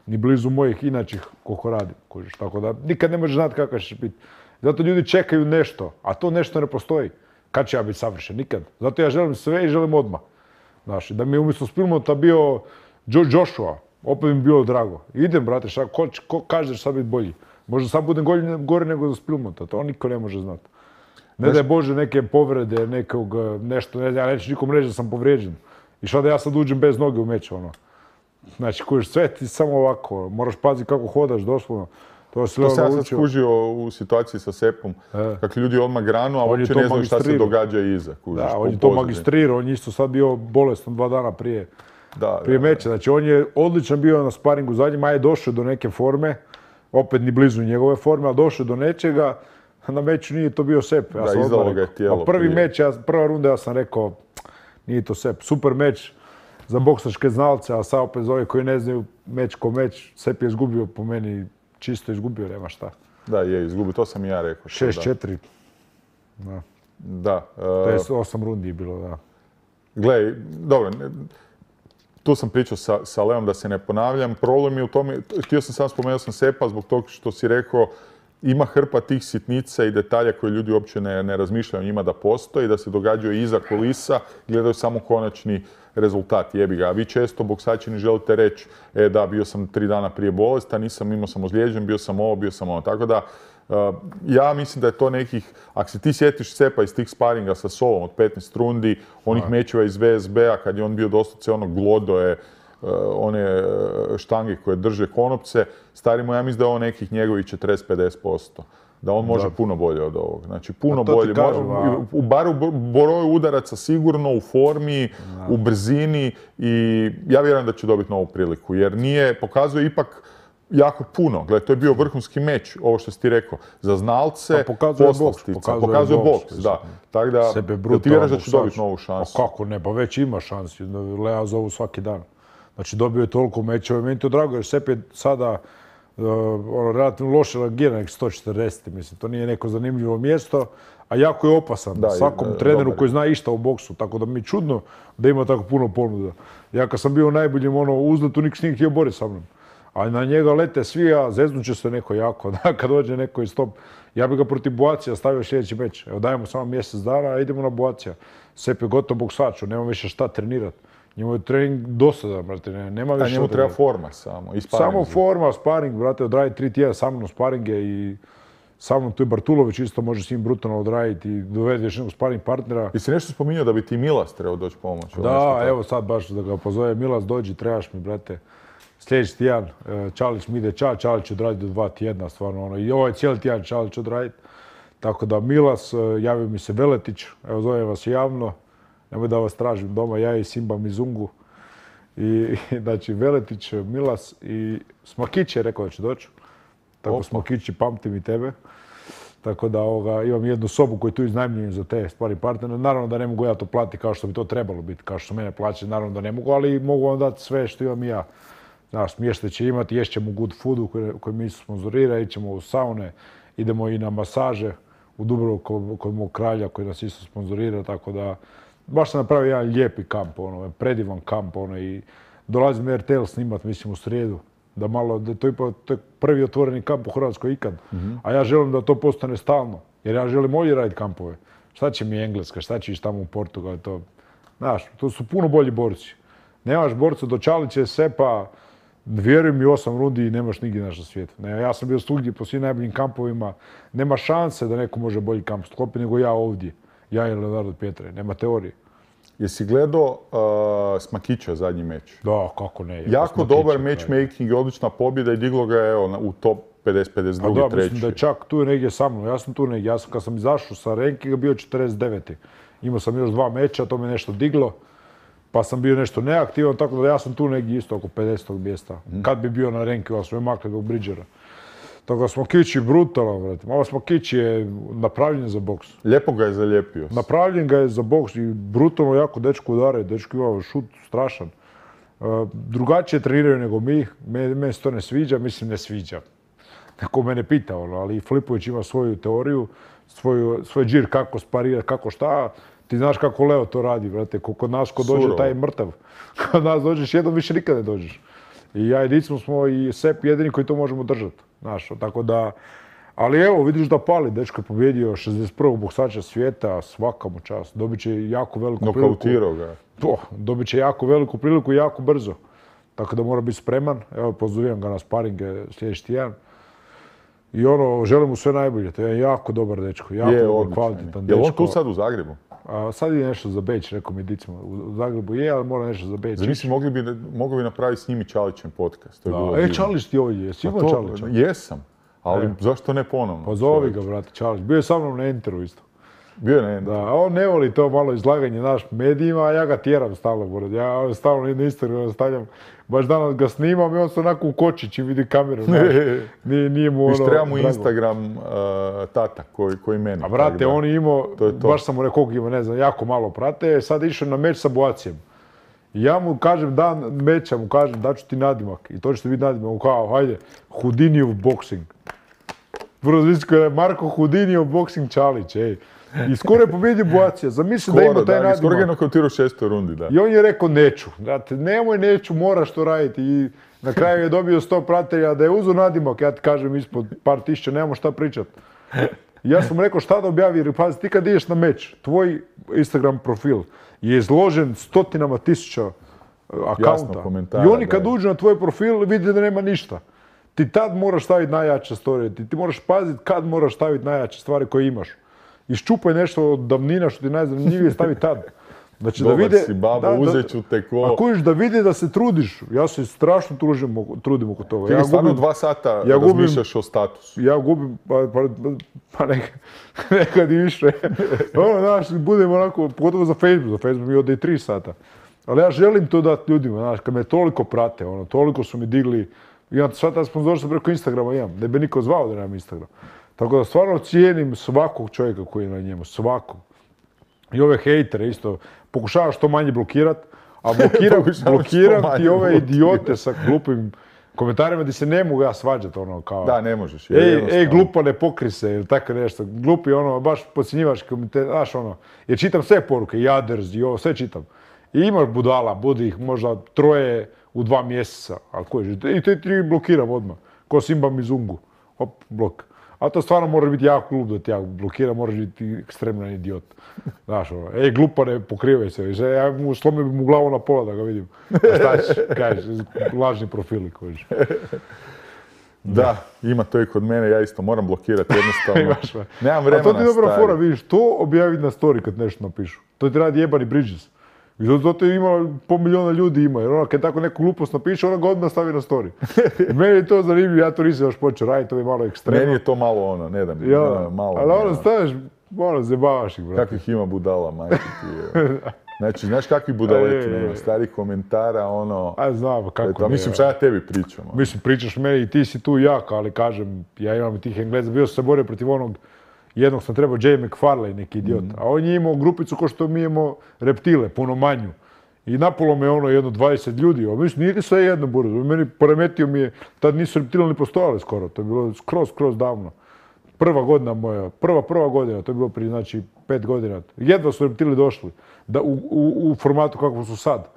ni blizu mojih inačih koliko radim. Tako da nikad ne možeš znati kakav će biti. Zato ljudi čekaju nešto, a to nešto ne postoji. Kad će ja biti savršen? Nikad. Zato ja želim sve i želim odmah. Znači, da mi je umjesto Spilmota bio Joshua, opet mi bilo drago. Idem, brate, ko kaže da će sad biti bolji? Možda sad budem gori nego za Spilmota, to niko ne može znati. Ne daj Bože neke povrede, nešto, ja neću nikom reći da sam povrijeđen. I šta da ja sad uđem bez noge u meč, Znači, kojiš sve ti samo ovako, moraš paziti kako hodaš, doslovno. To sam ja sad skužio u situaciji sa Sepom, kako ljudi odmah granu, a uopće ne znaju šta se događa iza. Da, on je to magistrirao, on je isto sad bio bolestan 2 dana prije meča. Znači, on je odličan bio na sparingu zadnjim, a je došao do neke forme, opet ni blizu njegove forme, ali došao do nečega. Na meču nije to bio Sep. Da, izdalo ga je tijelo. Prvi meč, prva runda ja sam rekao, nije to Sep. Super meč za boksačke znalce, a sad opet za ove koji ne znaju meč ko meč, Sep je izgubio po meni, čisto izgubio, nema šta. Da, je izgubio, to sam i ja rekao. 6-4. Da. To je 8 rundi bilo, da. Gle, dobro, tu sam pričao sa Leom da se ne ponavljam. Problem je u tome, htio sam samo spomenuo sam Sepa zbog toga što si rekao, ima hrpa tih sitnica i detalja koje ljudi uopće ne razmišljaju o njima da postoje i da se događaju iza kulisa, gledaju samo konačni rezultat, jebi ga. A vi često, boksači, ne želite reći, da, bio sam 3 dana prije bolestan, imao sam ozlijeđen, bio sam ovo, bio sam ono. Tako da, ja mislim da je to nekih, ako se ti sjetiš Sepa iz tih sparinga sa Solom od 15 rundi, onih mečeva iz VSB-a, kad je on bio doslovce glodoje, one štange koje drže konopce, starimo, ja mislim da je on nekih njegovih 40-50%. Da on može puno bolje od ovog. Znači, puno bolje. Bar u broju udaraca sigurno, u formi, u brzini i ja vjerujem da će dobiti novu priliku. Jer pokazuje ipak jako puno. Gledaj, to je bio vrhunski meč, ovo što si ti rekao. Za znalce, poslastica. Pokazuje boks, da. Tako da, ti vjeraš da će dobiti novu šansu? Kako ne, pa već ima šansi. Lea zovu svaki dan. Znači, dobio je toliko mečeva. Meni to drago, jer Sepp je sada relativno loše reagira, nek 140. Mislim, to nije neko zanimljivo mjesto, a jako je opasan svakom treneru koji zna išta o boksu. Tako da mi je čudno da ima tako puno ponuda. Ja kad sam bio u najboljem uzletu, niko s njim htio boriti sa mnom. A na njega lete svi, a zeznut će se neko jako. Kad dođe neko iz top, ja bi ga protiv Boacija stavio sljedeći meč. Evo dajemo samo mjesec dana, a idemo na Boacija. Sepp je gotov boksač, nema više šta trenirati. Njemu je trening dosadan, brate, nema više. A njemu treba forma samo, i sparing. Samo forma, sparing, brate, odradi 3 tjedna sa mnom sparinge i sa mnom tu je Bartulović isto može s njim brutalno odraditi i dovedeš nekog sparing partnera. I si nešto spominjao da bi ti Milas trebao doći pomoći? Da, evo sad baš da ga pozove Milas, dođi, trebaš mi, brate. Sljedeći tjedan Čalić mi ide Čalić odraditi do 2 tjedna, stvarno ono. I ovaj cijeli tjedan Čalić odraditi. Tako da Milas, javio mi se Veletić, evo zovem vas javno. Nemoj da vas tražim doma, ja i Simba Mizungu. I znači Veletić, Milas i Smakić je rekao da će doći. Tako Smakić, pamtim i tebe. Tako da imam jednu sobu koju tu iznajmljujem za te stvari partnere. Naravno da ne mogu ja to platiti kao što bi to trebalo biti, kao što mene plaćaju, naravno da ne mogu, ali mogu vam dati sve što imam i ja. Znaš, smještaj će imati, ješćemo good foodu koji mi sponzorira, ićemo u saune, idemo i na masaže u Dubrovku kod mog kralja koji nas isto sponzorira, tako da baš sam napravio jedan lijepi kamp, predivan kamp i dolazim RTL snimat, mislim, u srijedu. Da malo, to je prvi otvoreni kamp u Hrvatskoj ikad. A ja želim da to postane stalno, jer ja želim ovdje raditi kampove. Šta će mi Engleska, šta će ići tamo u Portugal, to, znaš, to su puno bolji borci. Nemaš borca do Čalića, Seppa, vjeruj mi, 8 rundi i nemaš nigdje na svijetu. Ja sam bio svugdje po svim najboljim kampovima, nema šanse da neko može bolji kamp sklopiti nego ja ovdje. Ja i Leonardo Pietre, nema teorije. Jesi gledao Smakića zadnji meč? Da, kako ne. Jako dobar matchmaking, odlična pobjeda i diglo ga je u top 50-52. Da, mislim da je čak tu negdje sa mnom. Ja sam tu negdje. Kad sam izašao sa rankinga bio 49. Imao sam još 2 meča, to me nešto diglo. Pa sam bio nešto neaktivan, tako da ja sam tu negdje isto oko 50. mjesta. Kad bi bio na rankingu, ali smo je makli do Bridgera. Tako da Smakić je brutalan, vrati. Malo Smakić je napravljen za boks. Lijepo ga je zalijepio. Napravljen ga je za boks i brutalno jako dečko udare. Dečko ima šut strašan. Drugačije treniraju nego mi. Meni se to ne sviđa, mislim ne sviđa. Neko mene pita, ali Filipović ima svoju teoriju, svoj džir kako sparira, kako šta. Ti znaš kako Leo to radi, vrate. Kod nas ko dođe, taj je mrtav. Kod nas dođeš jednom, više nikad ne dođeš. I ja i Dicmo smo i Sepp jedini koji to možemo držati. Znaš, tako da... Ali evo, vidiš da pali. Dečko je pobjedio 61. boksača svijeta, svaka mu čast. Dobit će jako veliku priliku. Nokautirao ga. Dobit će jako veliku priliku i jako brzo. Tako da mora biti spreman. Evo, pozovem ga na sparinge sljedeći tjedan. I želim mu sve najbolje. To je jako dobar dečko. Jako dobar, kvalitetan dečko. Je li on tu sad u Zagrebu? Sad je nešto za Beč, rekao mi Dicmo. U Zagrebu je, ali mora nešto za Beč. Znači, mogli bi napraviti s njim i Čalićem podcast. Čalić ti ovdje, jesi imao Čalića? Jesam, ali zašto ne ponovno? Pa zovi ga, brate, Čalić. Bio je sa mnom na Enteru isto. Bio je na Enteru? Da, on ne voli to malo izlaganje naš medijima, a ja ga tjeram stalno. Ja stalno na Instagram stavljam. Baš danas ga snimam i on se onako ukoči čim vidi kameru. Nije mu Viš, treba mu Instagram tata koji meni. A brate, on je imao, baš sam mu rekao koliko ima, ne znam, jako malo prate. Sad je išao na meč sa Boacijem. Ja mu kažem dan meča, mu kažem daću ti nadimak. I to ćete biti nadimak. On kao, hajde, Houdinijev boxing. Prvo zvisko je Marko Houdinijev boxing Čalić, ej. I skoro je pobjedio Boacija. Zamisli da ima taj nadimak. Skoro ga je nokautirao u 6. rundi, da. I on je rekao neću. Znate, nemoj neću, moraš to raditi. I na kraju je dobio 100 pratelja. Da je uzeo nadimak, ja ti kažem ispod par tisuća, nemamo šta pričat. I ja sam rekao šta da objavi, jer pazi, ti kad ideš na meč, tvoj Instagram profil je izložen stotinama tisuća akaunta. I oni kad uđu na tvoj profil vide da nema ništa. Ti tad moraš staviti najjače storije. Ti moraš paziti kad moraš staviti najjače stvari koje imaš. Iščupaj nešto od davnina što ti najzanimljivije stavi tad. Znači da vide... Dobar si babo, uzet ću te ko... A kojiš da vide da se trudiš. Ja se strašno trudim oko toga. Ti stvarno 2 sata razmišljaš o statusu. Ja gubim, pa nekad i više. Znaš, budem onako, pogotovo za Facebook. Za Facebook mi ode i 3 sata. Ali ja želim to dati ljudima, znaš, kad me toliko prate, toliko su mi digli Imam sva ta sponzorstva preko Instagrama imam, ne bi niko zvao da nemam Instagram. Tako da stvarno cijenim svakog čovjeka koji je na njemu, svakog. I ove hejtere isto, pokušavam što manje blokirat, a blokiram ti ove idiote sa glupim komentarima gdje se ne mogu ja svađati, ono, kao... Da, ne možeš. Ej, glupa, ne pokri se, ili tako nešto. Glupi, ono, baš podcjenjivaš komentar, znaš, ono, jer čitam sve poruke, jaders i ovo, sve čitam. I imaš budala, budi ih možda 3 u 2 mjeseca, ali koji je, i te 3 blokiram odmah, ko Simba Mizungu, hop, blok. A to stvarno mora biti jako glup da ti ja blokiram, moraš biti ekstremnan idiot. Znaš, ono, ej, glupa, ne pokrivaj se, ja slomio bi mu glavu na pola da ga vidim. A šta ćeš, kažeš, lažni profili kojiš. Da, ima to i kod mene, ja isto moram blokirati jednostavno. Nemam vremena. A to ti dobra fora, vidiš, to objaviti na story kad nešto napišu. To ti radi jebani Bridges. I zato ima 500 000 ljudi ima, jer ona kad tako neku glupost napiše, ona ga odmah stavi na story. I meni je to zanimljivo, ja to nisam još počeo raditi, to je malo ekstremno. Meni je to malo ono, ne da mi, malo. Ali ono staveš, malo zebavaš ih, brate. Kakvih ima budala, majke ti je. Znači, znaš kakvi budaleti nema, starih komentara, ono... A znam, kako ne. Mislim, šta ja tebi pričam? Mislim, pričaš meni i ti si tu jak, ali kažem, ja imam i tih Engleza, bio sam se borio protiv onog, jednog sam trebao Jay McFarlane, neki idiot, a on je imao grupicu ko što mi imamo reptile, puno manju. I napolo me ono jedno 20 ljudi, a mislim, nije sve jedno burzo, meni poremetio mi je, tad nisu reptile ni postojale skoro, to je bilo skroz davno. Prva godina moja, prva godina, to je bilo prije, znači, 5 godina. Jedva su reptili došli u formatu kako su sad.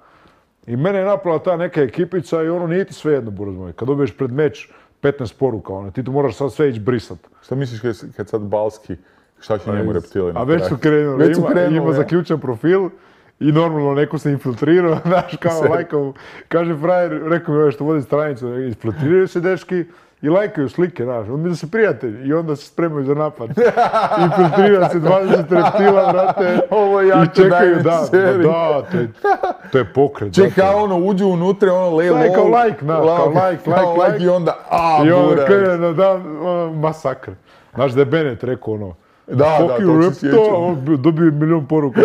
I mene je napala ta neka ekipica i ono nije ti sve jedno, buraz moj. Kad dobiješ pred meč 15 poruka, ono, ti tu moraš sad sve ići brisat. Šta misliš kad sad Balski, šta će njemu reptili? A već su krenuli, ima zaključen profil i normalno neko se infiltrirao, znaš, kao lajkao, kaže frajer, rekao mi ove što vodi stranicu, infiltriraju se dečki i lajkaju slike, znaš, on mi da se prijatelji i onda se spremaju za napad. Infiltrira se 20 reptila, brate, i čekaju, da, to je pokret. Čeka, ono, uđu unutra, ono, lej, kao like, i onda, i onda krene na dan, masakr. Znaš da je Bennett rekao, ono, da, to se sjećam. Dobio 1.000.000 poruka,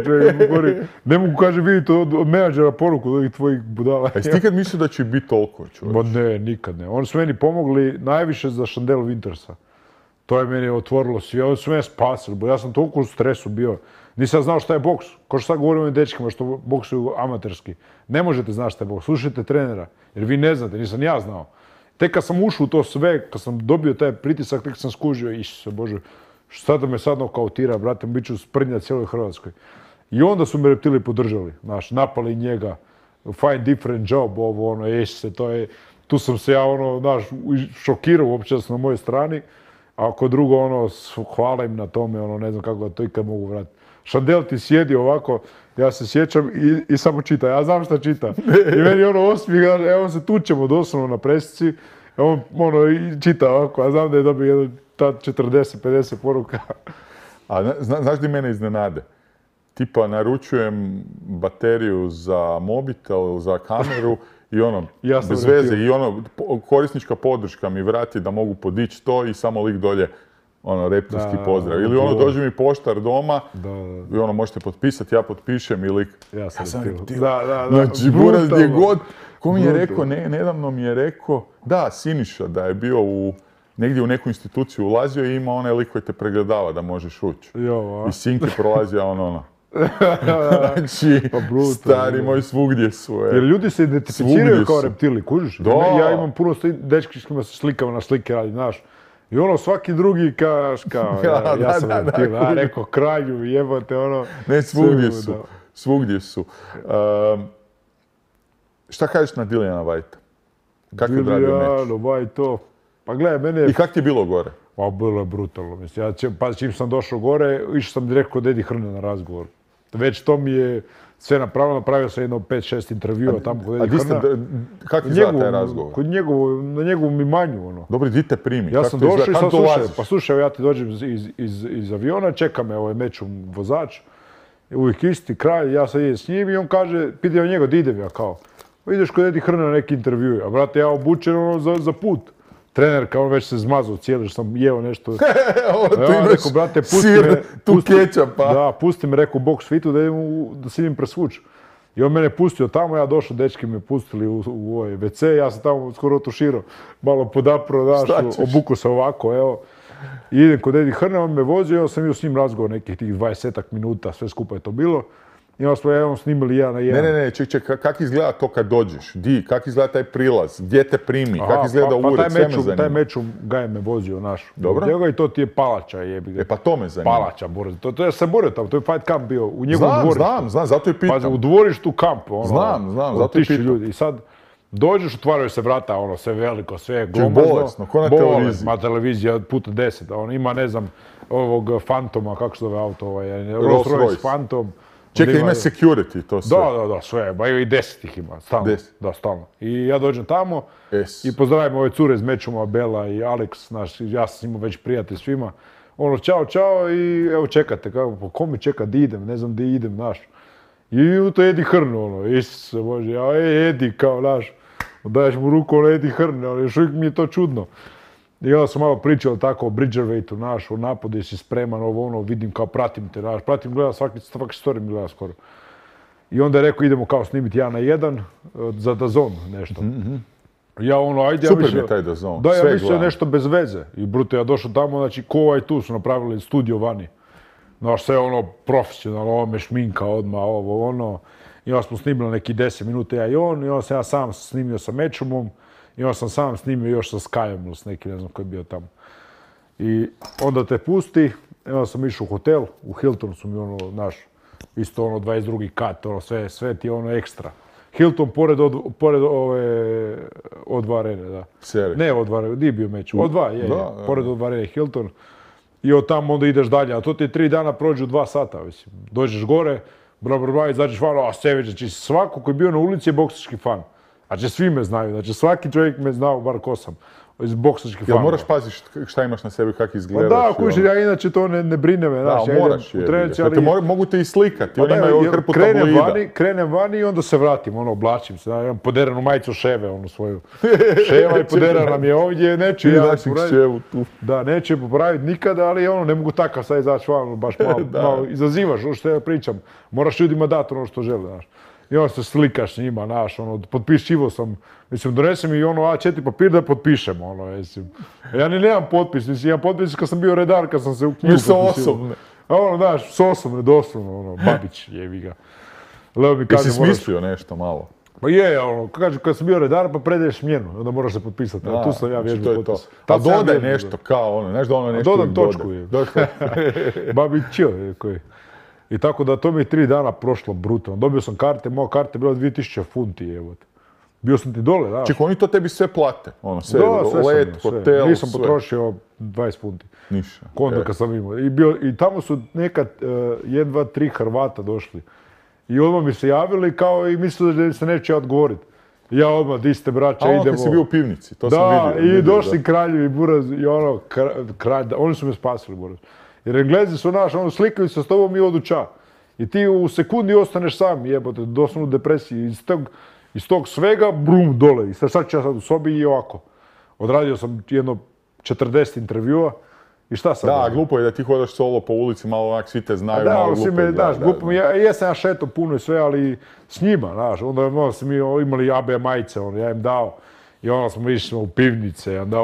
ne mogu, kaže, vidite od menadžera poruku od ovih tvojih budala. A jesi ti kad mislio da će biti toliko, čovječ? Ma ne, nikad ne. Oni su meni pomogli najviše za Chandel Wintersa. To je meni otvorilo sve, oni su mene spasili, bo ja sam toliko u stresu bio. Nisam znao šta je boks. Ko što sad govorim o dečkima što boksuju amaterski. Ne možete znati šta je boks, slušajte trenera, jer vi ne znate, nisam ja znao. Tek kad sam ušao u to sve, kad sam dobio taj pritisak, tek sam skužio, Isuse Bože, šta da me sad nokautira, brate, bit ću sprnja cijeloj Hrvatskoj. I onda su me reptili podržali, znaš, napali njega, find different job, ovo, ono, to je, tu sam se ja, ono, znaš, šokirao uopće da sam na mojoj strani, a ako drugo, ono, hvala im na tome, ono, ne znam kako da to ikad mogu vratiti. Chandel ti sjedi ovako, ja se sjećam i samo čita, ja znam šta čita. I meni ono osmijeh, evo se tučemo doslovno na presici, on, ono, čita ovako, ja znam da je dobio jedno 40-50 poruka. A znaš di mene iznenade? Tipa naručujem bateriju za mobitel, za kameru i ono, bez veze, i ono, korisnička podrška mi vrati da mogu podići to i samo lik dolje, ono, reptilski pozdrav. Ili ono, dođe mi poštar doma i ono, možete potpisati, ja potpišem i lik, ja sam reptil. Znači, buraz gdje god, ko mi je rekao, nedavno mi je rekao, da, Siniša, da je bio negdje u neku instituciju ulazio i ima onaj lik koji te pregledava da možeš ući. I Sinke prolazio ono. Znači, stari moj, svugdje su. Jer ljudi se identificiraju kao reptili, kužiš? Ja imam puno dečki s kojima se slikava na slike radi, znaš. I ono, svaki drugi kaš kao, ja sam reptil, a neko kralju, jebote, ono. Ne, svugdje su. Šta kažeš na Dilliana Whitea? Kako je odradio meč? Dilliana White, pa gledaj, mene... I kako ti je bilo gore? Pa bilo je brutalno, mislim. Pa čim sam došao gore, išao sam direkt kod Eddie Hearna na razgovor. Već to mi je sve napravio sam jedno 5-6 intervjua tamo kod Eddie Hearna. Kako ti zna taj razgovor? Na njegovom imanju, ono. Dobro, di te primi? Ja sam došao i sad pa slušaj, ja ti dođem iz aviona, čeka me ovaj mečom vozač, uvijek isti kraj, ja sad idem s njim i on kaže, pitao njega, di idem ja kao. Ideš kod Eddie Hearna na neki intervju, a brate, ja obučen ono za put. Trener kao već se zmazao cijeli, što sam jeo nešto. Tu imaš sir, tu kečapa. Da, pusti me, rekao, box fitu da se idem presvući. I on mene pustio tamo, ja došao, dečki me pustili u ovaj WC, ja sam tamo skoro otuširao, malo podapro, obuku se ovako, evo. I idem kod Edi Hrne, on me vozio, ja sam bio s njim razgovor nekih tih 20 minuta, sve skupa je to bilo. I onda smo jednom snimili 1 na 1. Ne, ček, kako izgleda to kad dođeš? Kako izgleda taj prilaz? Gdje te primi? Kako izgleda ured? Sve me zanima. Taj mečum Gaj me vozio naš. Dobro. I to ti je palača, jebi ga. Pa to me zanima. Palača, Boris. To ja sam borio tamo, to je fight camp bio u njegovom dvorištu. Znam, zato i pitam. Pazi, u dvorištu kamp, Znam, zato i pitam. Ljudi. I sad dođeš, otvaraju se vrata, sve veliko, sve glomazno. Bolesno, ko na televiziji. Ma televizija puta 10, ima, ne znam, ovog Fantoma, kako se zove auto, Rolls Royce Phantom. Čekaj, ima security, to sve. Da, sve, ba i 10 ih ima, stalno. 10? Da, stalno. I ja dođem tamo i pozdravim ove cure iz Mečuma, Bela i Alex, ja sam s njima već prijatelj svima. Čao i evo čekate, kako, ko me čeka, di idem, ne znam di idem, znaš. I to Edi Hrnu, Isuse Bože, Edi, kao, znaš, daješ mu ruku, Edi Hrne, ali još uvijek mi je to čudno. I onda sam malo pričao tako o Bridgerweightu, naš, o napadu, jesi spreman, vidim kao pratim te, naš, gledam svaki story mi gleda skoro. I onda je rekao, idemo kao snimiti 1 na 1 za DAZN nešto. Ja ajde, super mi je taj DAZN, da, ja mislio nešto bez veze. I bruto, ja došao tamo, znači, ko tu su napravili studio vani. Znaš, sve profesionalno, me šminka odmah, I onda smo snimili neki 10 minuta, ja i on, i onda sam ja sam snimio sa Mečumom. I onda sam sam snimio još sa Skyom, s neki, ne znam koji je bio tamo. I onda te pusti, i onda sam išao u hotel, u Hilton su mi isto 22. kat, sve ti je ekstra. Hilton pored ove O2 arene, da. Seri. Ne O2 arene, di je bio meč? O2, je, pored O2 arene Hilton. I od tamo onda ideš dalje, a to ti 3 dana prođu 2 sata, mislim. Dođeš gore, izađeš van, a Sević, znači svako koji je bio na ulici je boksački fan. Znači, svi me znaju, znači svaki čovjek me znao, bar ko sam, iz boksačkih fanova. Jel moraš paziti šta imaš na sebi, kako izgledaš? Da, kuži, ja inače to ne brine me, znaš, ja idem u trenci, ali... Mogu te i slikati, oni imaju hrpu tabloida. Krenem vani i onda se vratim, oblačim se, imam poderanu majicu Ševe, svoju. Ševa i poderana mi je ovdje, neću ja popraviti. Da, neću je popraviti nikada, ali ne mogu takav sad izaći van, baš malo izazivaš, što ja pričam. Moraš ljudima dati ono što žele, znaš. I onda se slikaš s njima, znaš, potpišivo sam, mislim, donese mi A4 papir da potpišemo, mislim. Ja nemam potpis, mislim, imam potpis kad sam bio redar, kad sam se u knjigu potpisio. osobne. Znaš, s osobne, doslovno, Babić, jevi ga. Jesi smislio nešto malo? Pa je, kaže, kad sam bio redar, pa predaješ smjenu, onda moraš se potpisati, tu sam ja vježbao potpis. A dodaj nešto kao znaš da nešto dodam točku, je. Babić, koji. I tako da to mi je 3 dana prošlo brutalno. Dobio sam karte, moja karta je bila 2000 funti, evo. Bio sam ti dole, da. Čekaj, oni to tebi sve plate? Sve, let, hotel, sve. Nisam potrošio 20 funti. Ništa. Konto kad sam imao. I tamo su nekad 1, 2, 3 Hrvata došli. I odmah mi se javili kao i mislili da se neće odgovoriti. Ja odmah, di ste braća, idemo. Kad si bio u pivnici, to sam vidio. Da, i došli kraljevi Buraz i oni su me spasili, Buraz. Jer Englezi su slikaju se s tobom i odu ča. I ti u sekundi ostaneš sam, jebote, doslovno u depresiji. Iz tog svega, brum, dole. I sad ću ja sad u sobi i ovako. Odradio sam jedno 40 intervjua. I šta sad? Da, glupo je da ti hodaš solo po ulici, malo svi te znaju, malo glupo je. Jesam ja šeto puno i sve, ali s njima, znaš. Onda smo imali AB majice, ja im dao. I onda smo išli u pivnice, onda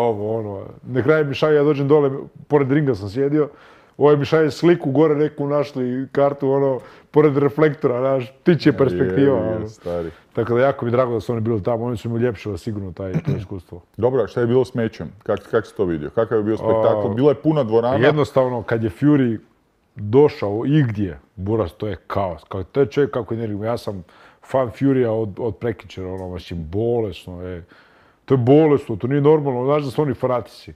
Na kraju mi šalje, ja dođem dole, pored ringa sam sjedio. Mi šalje sliku, gore neku našli kartu, pored reflektora, znaš, tiče perspektiva. Tako da jako mi je drago da su oni bili tamo, oni su mi uljepšili sigurno to iskustvo. Dobro, šta je bilo s mečem? Kako si to vidio? Kakav je bio spektakl? Bila je puna dvorana? Jednostavno, kad je Fury došao igdje, Buraz, to je kaos. To je čovjek kako je energijom. Ja sam fan Furya od prekjučera, bolesno je. To je bolesno, to nije normalno, znaš da su oni fanatici.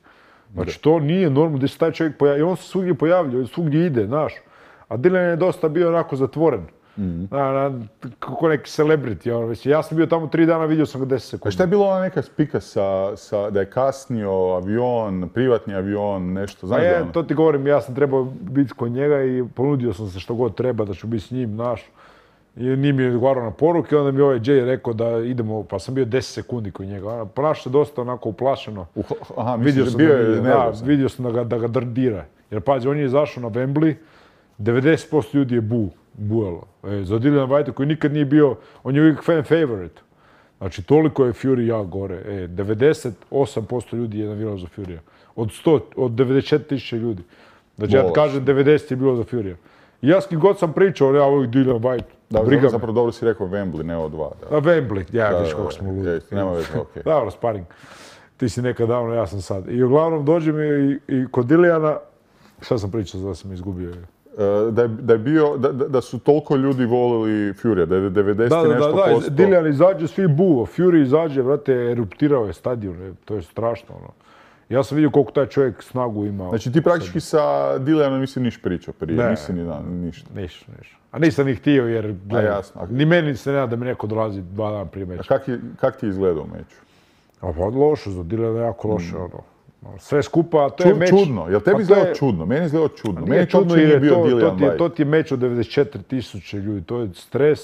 Znači, to nije normalno da se taj čovjek pojavlja. I on se svugdje pojavlja, svugdje ide, znaš. A Dylan je dosta bio onako zatvoren. Kako neki celebrity. Ja sam bio tamo 3 dana, vidio sam ga 10 sekundi. A šta je bilo ona neka spika da je kasnio avion, privatni avion, nešto, znaš da ono? To ti govorim, ja sam trebao biti kod njega i ponudio sam se što god treba da ću biti s njim, znaš. I nije mi odgovarao na poruke, onda mi ovaj Jay rekao da idemo, pa sam bio 10 sekundi kod njega. Ponašao se dosta onako uplašeno. Aha, misliš da bio je nervozan? Vidio sam da ga drdira. Jer pazi, on je izašao na Wembley 90% ljudi je bujalo. Za Dillian Whitea koji nikad nije bio, on je uvijek fan favorite. Znači, toliko je Fury jak gore. 98% ljudi je navijalo za Furya. Od 94.000 ljudi. Znači, ja ti kažem, 90 je bilo za Furya. I ja s kim god sam pričao, ja ovih Dillian Whyte. Da, zapravo dobro si rekao Wembley, ne O2. Da, Wembley, ja viš kako smo ludi. Nema veze, okej. Dobro, sparing. Ti si nekad davno, ja sam sad. I uglavnom dođem i kod Dilliana, šta sam pričao, da sam izgubio? Da je bio, da su toliko ljudi volili Furya, da je 90 nešto posto. Da, Dillian izađe, svi buo, Fury izađe, vrate, eruptirao je stadion, to je strašno, ono. Ja sam vidio koliko taj čovjek snagu ima. Znači ti praktički sa Dillianom nisi niš pričao prije, nisi ništa. Ništa. A nisam ni htio jer, jasno. Ni meni se nema da mi neko dolazi 2 dana prije meča. A kak ti je izgledao meč? Pa loše, za Dilliana jako loše, ono. Sve skupa, to je meč... Čudno, jel tebi izgledao čudno? Meni je izgledao čudno. Meni čudno jer bio Dillian Whyte. To ti je meč od 94.000 ljudi, to je stres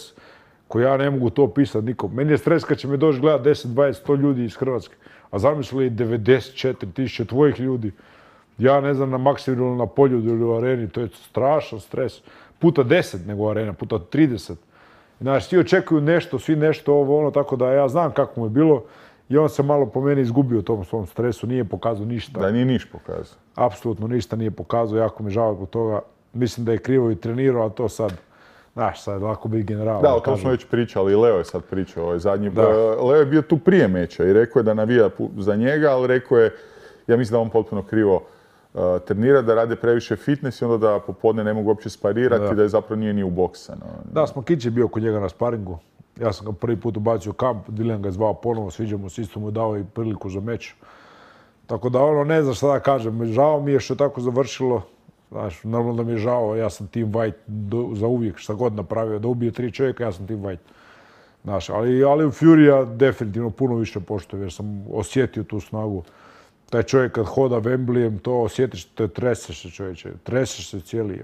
koji ja ne mogu to opisati nikom. Meni je stres kad će me doći gledat 10, 20, 100 ljudi iz Hrvatske. A zamisli 94.000 tvojih ljudi. Ja ne znam, na Maksimiru, na Poljudu ili u areni, to je strašan stres. Puta 10 nego arena, puta 30. Znaš, svi očekuju nešto, svi nešto ovo, ono, tako da ja znam kako mu je bilo. I on se malo po meni izgubio u tom svom stresu, nije pokazao ništa. Da, nije niš pokazao. Apsolutno ništa nije pokazao, jako mi žao zbog toga. Mislim da je krivo i trenirao, a to sad, znaš, sad lako biti general. Da, o tom smo već pričali, i Leo je sad pričao, ovaj zadnji. Leo je bio tu prije meča i rekao je da navija za njega, ali rekao je, ja mislim da on potpuno krivo trenira, da rade previše fitness i onda da popodne ne mogu uopće sparirati, da je zapravo nije ni u boksa. Da, Smokić je bio kod njega na sparingu. Ja sam ga prvi put ubacio u kamp, Dillian ga je zvao ponovo, sviđa mu se, isto mu dao i priliku za meč. Tako da ono, ne znam šta da kažem, žao mi je što je tako završilo. Znaš, normalno da mi je žao, ja sam Team White za uvijek, šta god napravio, da ubije 3 čovjeka, ja sam Team White. Znaš, ali u Fury definitivno puno više poštujem jer sam osjetio tu snagu. Taj čovjek kad hoda Wembleyem, to osjetiš, to treseš se čovječe, treseš se cijeli.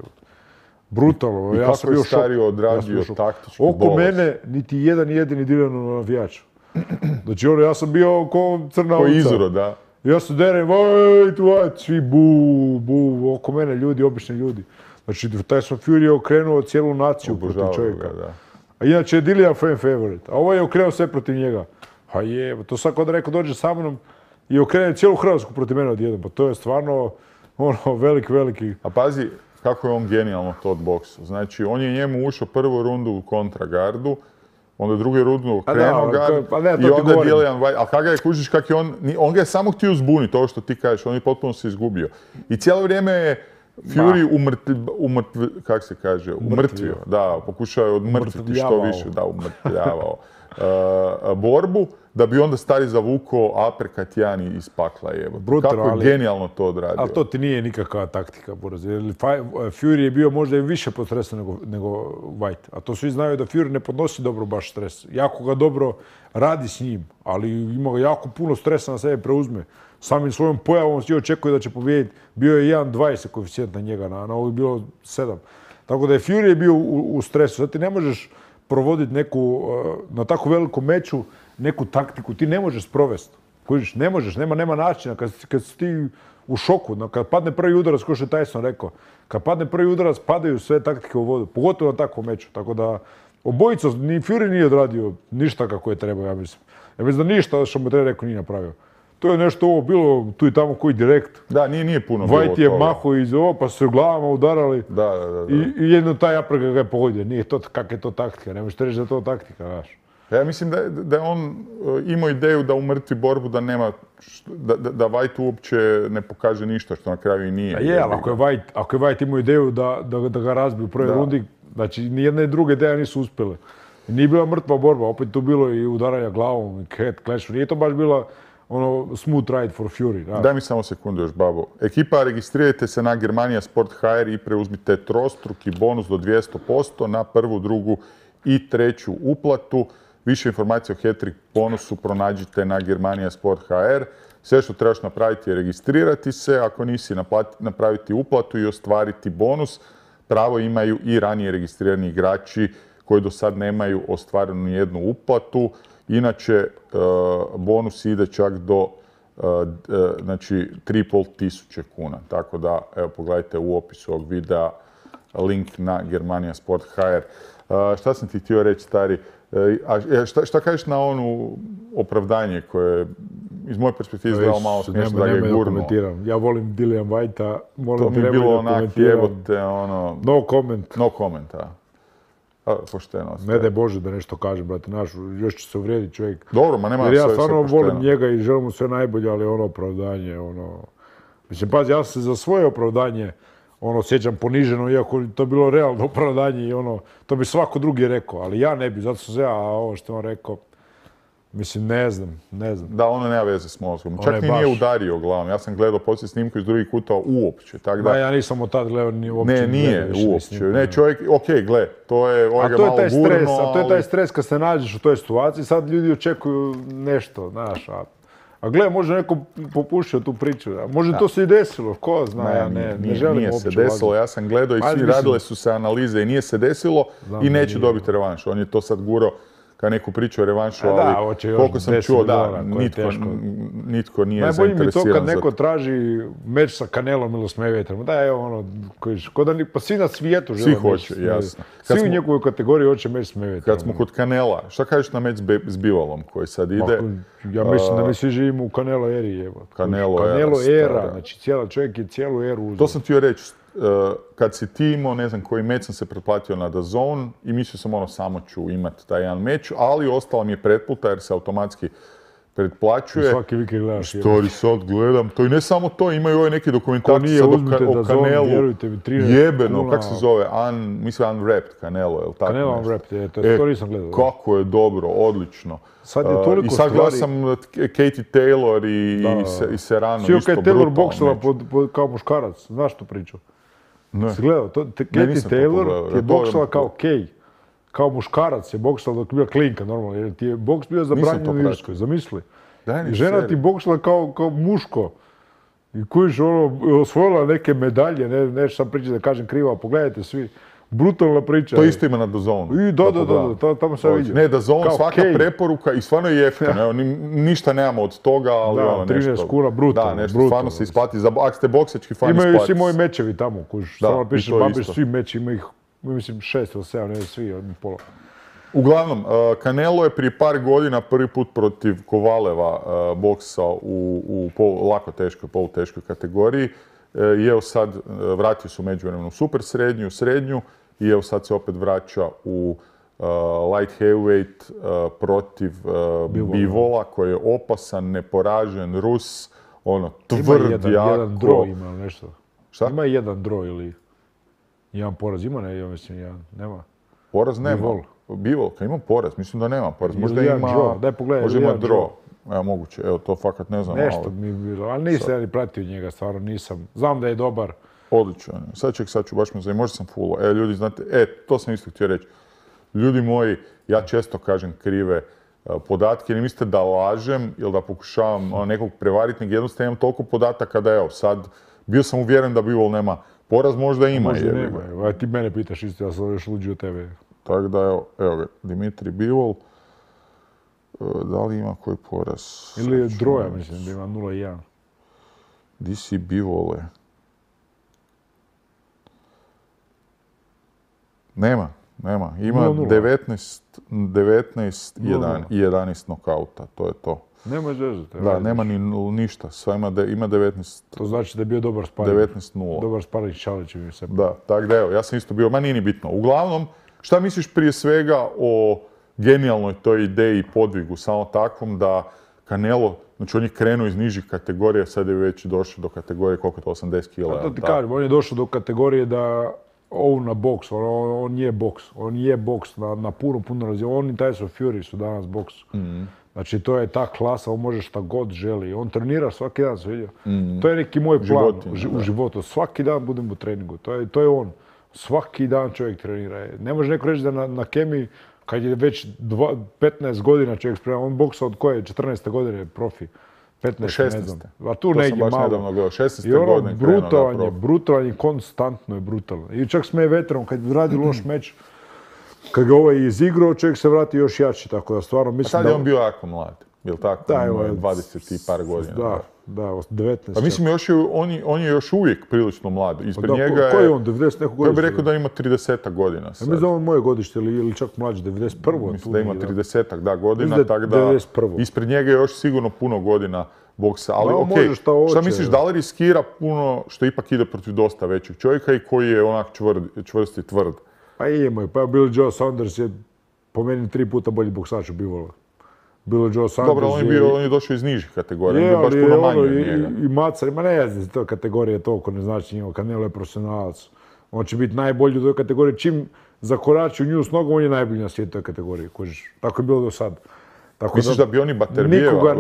Brutalno. I kako je Stario odradio taktički bolest? Oko mene niti jedan jedini Dillianov navijač. Znači ono, ja sam bio ko crna ovca. Ko izuro, da. Ja se derem, White, svi bu, oko mene ljudi, obični ljudi. Znači, taj sam Fury okrenuo cijelu naciju protiv čovjeka. A inače je Dillian fan favorite, a ovo je okrenuo sve protiv njega. Pa je, to sad kod rekao dođe sa mnom i okrene cijelu Hrvatsku protiv mene odjednom. Pa to je stvarno ono, veliki... A pazi, kako je on genijalno to odboksao. Znači, on je njemu ušao prvu rundu u kontragardu, onda drugu rundu okrenuo gard i onda Dillian Whyte. Ali kada ga je kužiš kak je on ga je samo htio zbuniti, ovo što ti kažeš, on je potpuno se izgubio. I cijelo vrijeme je Fury umrtvio. Da, pokušao je odmrtviti što više, da, umrtvljavao borbu, da bi onda stari zavukao uppercut jedan iz pakla. Kako je genijalno to odradio. Ali to ti nije nikakva taktika, Boraz. Fury je bio možda i više pod stresom nego White. A to svi znaju da Fury ne podnosi dobro baš stres. Jako ga dobro radi s njim, ali ima ga jako puno stresa na sebe preuzme. Samim svojom pojavom svi očekuje da će pobijediti. Bio je 1.20 koeficijent na njega, na ovo je bilo 7. Tako da je Fury bio u stresu. Sad ti ne možeš provoditi neku, na tako velikom meču, neku taktiku, ti ne možeš sprovesti. Kužiš, ne možeš, nema načina. Kad si ti u šoku, kad padne prvi udarac, kao što je Tyson rekao, kad padne prvi udarac, padaju sve taktike u vodu, pogotovo na takvom meču. Tako da, obojica, ni Fury nije odradio ništa kako je trebao, ja mislim. Ja mislim da ništa što mu treba rekao nije napravio. To je nešto ovo bilo tu i tamo koji direkt. Da, nije puno bilo White je maho iz ovo, pa su se u glavama udarali. Da. I jedno taj uppercut ga je pogodio. Nije to, kak je to taktika, ne možete reći da je to taktika, znaš. Ja mislim da je on imao ideju da umrtvi borbu, da da White uopće ne pokaže ništa, što na kraju i nije. Je, ali ako je White imao ideju da ga razbiju u prvoj rundi, znači nijedna i druga ideja nisu uspjele. Nije bila mrtva borba, opet tu bilo i udaranja glavom, i head clash, nije to baš bila smooth ride for Fury. Da. Daj mi samo sekundu još, Babo. Ekipa, registrirajte se na Germania Sport HR i preuzmite trostruki bonus do 200% na prvu, drugu i treću uplatu. Više informacija o hat-trick bonusu pronađite na Germania Sport HR. Sve što trebaš napraviti je registrirati se, ako nisi napraviti uplatu i ostvariti bonus. Pravo imaju i ranije registrirani igrači koji do sad nemaju ostvarenu nijednu uplatu. Inače, bonus ide čak do 3.500 kuna. Tako da, evo, pogledajte u opisu ovog videa link na Germania Sport HR. Šta sam ti htio reći, stari? Šta kažeš na onu opravdanje koje iz moje perspektive izgledalo malo smiješno da ga je gurnuo? Ja volim Dillian Whitea, to mi je bilo onak jebote, ono... No comment. No comment, pošteno. Ne daj Bože da nešto kažem, brate, još će se uvrijediti čovjek. Dobro, ma nema sve pošteno. Jer ja stvarno volim njega i želim mu sve najbolje, ali ono opravdanje, Mislim, pazi, ja se za svoje opravdanje osjećam poniženo, iako to je bilo realno opravdanje i to bi svako drugi rekao, ali ja ne bi, zato sam se ja, ovo što je on rekao, mislim, ne znam. Da, ono nema veze s mozgom. Čak ni nije udario glavom. Ja sam gledao poslije snimku iz drugih kuta uopće. Da, ja nisam od tad gledao ni uopće. Ne, nije uopće. Ne, čovjek, okej, gle, to je ga malo gurno, a to je taj stres kad se nađeš u toj situaciji, sad ljudi očekuju nešto, znaš, a gle, može neko popušio tu priču, može to se i desilo, ko zna, ja ne želim nije uopće se desilo, ja sam gledao i svi radile su se analize i nije se desilo i neće dobiti revanš. On je to sad gurao kao neku priču o revanšu, ali koliko sam čuo, da, nitko nije zainteresiran. Najbolje mi to kad neko traži meč sa Canelom ili s Mayweatherom, da je pa svi na svijetu žele meč. Svi hoće, jasno. Svi u njegovoj kategoriji hoće meč s Mayweatherom. Kad smo kod Canela, šta kažeš na meč s Bivolom koji sad ide? Ja mislim da mi svi živimo u Canelo eri, Canelo era, znači čovjek je cijelu eru uzeo. To sam htio reći. Kad si ti imao, ne znam koji meč, sam se pretplatio na DAZN i mislio sam samo ću imati taj jedan meč, ali ostala mi je pretplata jer se automatski pretplaćuje. Svaki vikend gledaš. Što sad gledam, to i ne samo to, imaju ove neke dokumentacije sad o Canelu. Vjerujte mi, 13 jebeno, kako se zove, mislim Unwrapped Canelo, je li tako? Canelo Unwrapped, to nisam gledao. Kako je dobro, odlično. Sad je toliko I sad gledao sam Katie Taylor i Serrano, isto brutalno. Katie Taylor boksala kao muškarac, znaš tu priču? Si gledao, Katie Taylor je boksala kao Kay. Kao muškarac je boksala dok je bila klinka, normalno, jer ti je boks bio zabranjen u Irskoj, zamisli. I žena ti boksala kao muško. I kojiš osvojila neke medalje, neću sam pričati da kažem krivo, pogledajte svi. Brutalna priča. To isto ima na DAZN. Da, tamo sam vidio. Ne, DAZN, svaka preporuka i stvarno je jeftino. Ništa nemamo od toga, ali nešto... 13 kuna, brutalno. Da, nešto stvarno se isplati. Ako ste boksački fan, isplati. Imaju svi moji mečevi tamo, samo pišeš, babiš svi meči, ima ih, mislim, 6 ili 7, ne svi, pola. Uglavnom, Canelo je prije par godina prvi put protiv Kovaleva boksao u lako teškoj, poluteškoj kategoriji. I evo sad, vratio se u međuvremenu super srednju i evo sad se opet vraća u light heavyweight protiv Bivola koji je opasan, neporažen, Rus, tvrd, jako. Ima jedan draw ima nešto. Šta? Ima jedan draw ili jedan poraz, ima ja mislim jedan, nema. Poraz nema. Bivol, kad ima poraz, mislim da nema poraz. Možda ima draw. Evo, moguće, evo, to fakat ne znam. Nešto mi je bilo, ali nisam ja ni pratio njega, stvarno nisam. Znam da je dobar. Odličan. Sad ću baš me zanimati, možda sam fullo. Ljudi, znate, to sam isto htio reći. Ljudi moji, ja često kažem krive podatke, ne mislite da lažem ili da pokušavam nekog prevariti, nego jednostavno imam toliko podataka da evo, sad bio sam uvjeren da Bivol nema poraz, možda ima. Možda nema, ti mene pitaš isto, ja sam još luđi od tebe. Tako da, evo ga, Dimitri Bivol. Da li ima koji poraz? Ili je droja, mislim, da ima 0-1. Di si Bivole? Nema. Ima 19 i 11 nokauta, to je to. Nema zezati. Da, nema ni ništa, sve ima 19. To znači da je bio dobar sparing. 19-0. Dobar sparing Šalić mi se. Da, tako da evo, ja sam isto bio, ma nije ni bitno. Uglavnom, šta misliš prije svega o genijalnoj toj ideji i podvigu, samo takvom da Canelo, znači on je krenuo iz nižih kategorija, sad je već došao do kategorije koliko je to, 80 kila. To ti kažem, on je došao do kategorije da na boks, on je boks na puno razine. On i Tyson Fury su danas boks. Znači to je ta klasa, on može šta god želi. On trenira svaki dan, se vidio. To je neki moj plan u životu. Svaki dan budem u treningu, to je on. Svaki dan čovjek trenira. Ne može neko reći da na kemiji, kad je već 15 godina čovjek spreman, on boksa od koje? 14. godine profi. 15, ne znam. A tu negdje malo. To sam baš nedavno gledao, 16. godine. Brutalan je, konstantno je brutalan. I čak s Mayweatherom, kad radi loš meč, kad ga ovaj izigrao, čovjek se vrati još jači, tako da stvarno mislim da... A tad je on bio jako mlad, jel tako? Da, 20 i par godina. Da, Da, 19. Pa mislim, on je još uvijek prilično mlad. Ispred njega je... Koji je on, 90 neko godište? Ja bih rekao da ima 30 godina sad. Ja mislim da on moje godište ili čak mlađe, 91. Mislim da ima 30 godina, tako da ispred njega je još sigurno puno godina boksa. Ali okej, šta misliš, da li riskira puno što ipak ide protiv dosta većeg čovjeka i koji je onak čvrst i tvrd? Pa imaju, pa Billy Joe Saunders je po meni 3 puta bolji boksač od Bivola. Billy Joe Saunders dobro, on je došao iz nižih kategorija, on je baš puno manji od njega. I macar, ma ne znam, to kategorija toliko ne znači njima, Canelo je profesionalac. On će biti najbolji u toj kategoriji, čim zakorači u nju s nogom, on je najbolji na svijetu toj kategoriji, kužiš. Tako je bilo do sad. Misliš da bi oni Baterbijeva?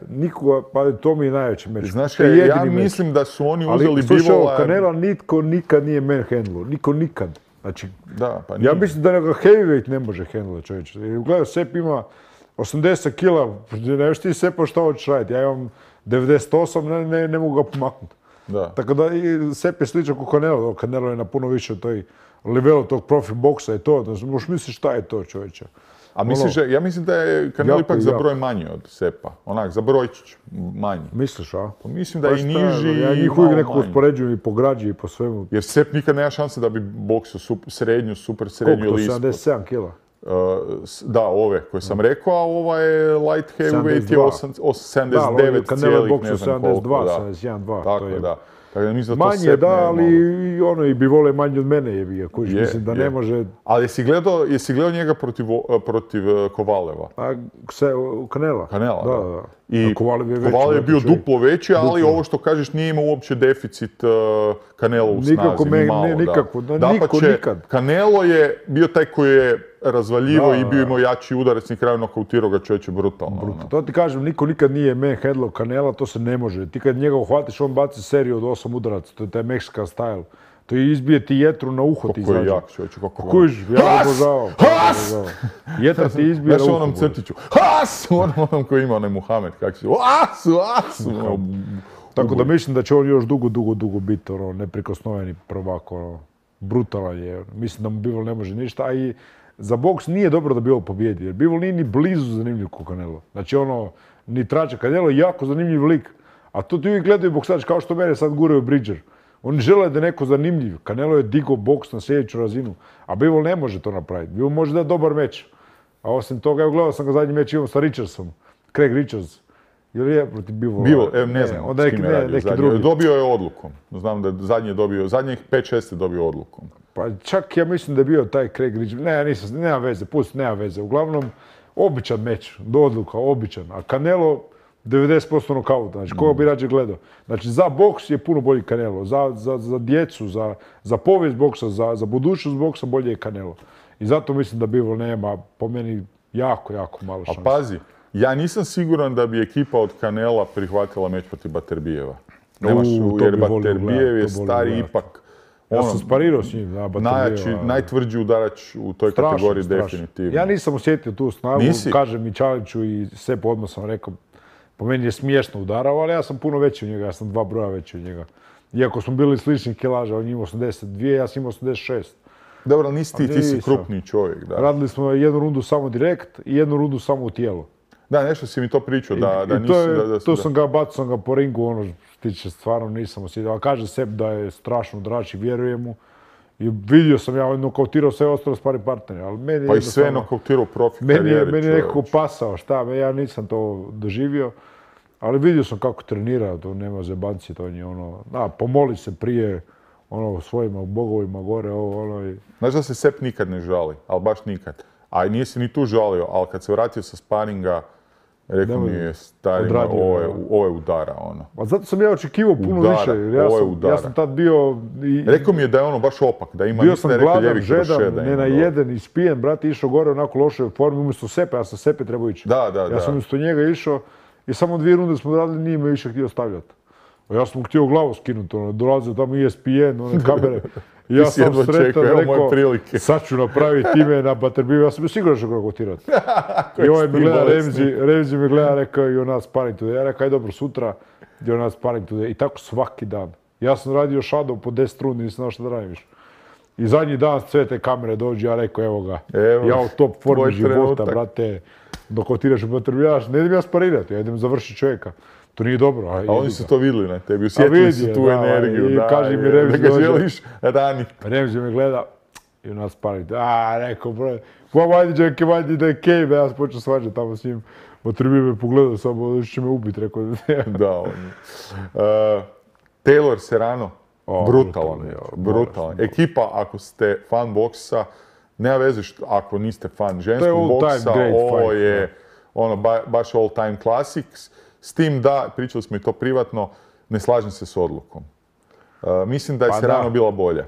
Nikoga, pa to mi je najveći meč. Znaš, ja mislim da su oni uzeli Bivola... Ali Canela nitko nikad nije manhandlao, niko nikad. Znači, da, pa nije. Ja mislim da ga heavyweight ne može handlati, čovječe. Gledaj, Sepp ima 80 kila, ne viš ti Seppa šta hoćeš raditi, ja imam 98, ne mogu ga pomaknuti. Da. Tako da Sepp je sličan kao Canelo, Canelo je na puno više toj levelu tog profi boksa i to, možeš misliš šta je to, čovječe. A misliš, ja mislim da je Canelo ipak za broj manji od Seppa, onak, za brojčić manji. Misliš, a? Pa mislim da je i niži ja njih uvijek nekako uspoređujem i po građi i po svemu. Jer Sepp nikad nema šanse da bi boksao super srednju ili ispod. Koliko to, 77 kila? Da, ove koje sam rekao, a ova je light heavyweight je 79 cijelih, ne znam koliko. 72, 71, 2. Tako je, da. Manje, da, ali ono i bi vole manje od mene je, kužiš, mislim da ne može... Ali jesi gledao njega protiv Kovaleva? Canela? Canela, da. I Kovalev je bio duplo veći, ali ovo što kažeš nije imao uopće deficit Canelo u snazi, ni malo. Nikako, nikad. Canelo je bio taj koji je razvaljivo i bio imao jači udarac, na kraju nokautirao ga čovječe brutalno. To ti kažem, niko nikad nije manhandlao Canela, to se ne može. Ti kad njega uhvatiš, on baci seriju od 8 udaraca, to je taj meksikan style. To je izbije ti jetru na uho ti izađe. Kako je jak čovječe, kako je... Kužiš, ja ga obožavam. Jetra ti izbije na uho. Znaš onom crtiću, Has! Onom koji ima onaj Muhamed, kako će, As! Tako da mislim da će on još dugo biti neprikosnoveni prvak, brutalan je. Mislim da mu Bivol ne može ništa, a i za boks nije dobro da Bivol pobjedi, jer Bivol nije ni blizu zanimljiv kao Canelo. Znači ni trača. Canelo je jako zanimljiv lik, a to ti uvijek gledaju boksači, kao što mene sad guraju Bridger. Oni žele da je neko zanimljiv. Canelo je digao boks na sljedeću razinu, a Bivol ne može to napraviti. Bivol može dati dobar meč. A osim toga, evo gledao sam ga zadnji meč imao sa Richardsom, Craig Richards. Ili je protiv Bivola? Bivol, ne znam s kim je radio zadnji. Dobio je odlukom. Znam da zadnji je dobio, zadnjih 5-6 je dobio odlukom. Pa čak ja mislim da je bio taj Craig Richards. Nema veze, pusti, nema veze. Uglavnom, običan meč, do odluka, običan. A Canelo, 90% nokauta. Znači, koga bi rađe gledao? Znači, za boks je puno bolji Canelo. Za djecu, za povijest boksa, za budućnost boksa bolje je Canelo. I zato mislim da Bivol nema, po meni, jako malo šanse. A pazi, ja nisam siguran da bi ekipa od Canela prihvatila meč protiv Baterbijeva. Jer Baterbijev je stari ipak... Ja sam sparirao s njim, da, Baterbijeva. Najtvrđi udarač u toj kategoriji definitivno. Ja nisam osjetio tu snagu, kažem i Čaliću i Seppu odmah sam rekao, po meni je smiješno udarao, ali ja sam puno veći od njega, ja sam 2 broja veći od njega. Iako smo bili slični kilaža, on ima 82, ja sam imao 86. Dobro, ti si krupniji čovjek, da. Radili smo jednu rundu samo direkt i jednu rundu samo u tijelo. Da, nešto si mi to pričao, da nisi... To sam ga bacao po ringu, tiče stvarno nisam osjetio. Ali kaže Sepp da je strašno drač i vjerujem mu. I vidio sam, ja nokautirao sve ostale spari partnere, ali meni... Pa i sve nokautirao profi karijeri. Meni je nekako pasao, ja nisam to doživio. Ali vidio sam kako trenira, to nema zebanci, to je pomoli se prije, svojima bogovima gore, i... Znaš da se Sepp nikad ne žali, ali baš nikad. A nije se ni tu žalio, ali kad se vratio sa sparinga, rekao mi je starima, ovo je udara, A zato sam ja očekivao puno više, ja sam tad bio... Rekao mi je da je baš opak, da ima... Bio sam gladan, žedan, nenajeden, ispijen, brat, išao gore onako loše formi, umjesto Seppe, ja sam Seppe trebao ići. Ja sam umjesto njega išao i samo 2 runde smo radili, nije me više htio stavljati. Ja sam mu htio glavu skinuti, dolazio tamo ESPN, one kamere. Ja sam sretan, rekao, sad ću napraviti ime na Baterbiju, ja sam bio siguran što ga kotirati. I ovaj mi gleda, Remzi mi gleda, rekao, you're not sparring today. Ja rekao, aj dobro, sutra, you're not sparring today. I tako svaki dan. Ja sam radio shadow po 10 rundi, nisam znao što da radim više. I zadnji dan sve te kamere dođe, ja rekao, evo ga, ja u top formi života, brate, dok kotiraš u Baterbiju, ne idem ja sparirati, ja idem završiti čovjeka. To nije dobro. A oni su to vidjeli na tebi, osjetili su tu energiju. I kaže mi Remzi da ga želiš raniti. Remzi me gleda i nas palite. Rekao, bro, why did they came? Ja sam počeo svađati tamo s njim. Potrebi me pogledao samo, će me ubiti, rekao. Da, on je. Taylor Serrano, brutalan. Ekipa, ako ste fan boksa, nema veze ako niste fan ženskog boksa, ovo je baš all time classics. S tim da, pričali smo i to privatno, ne slažem se s odlukom. Mislim da je Serrano bila bolja.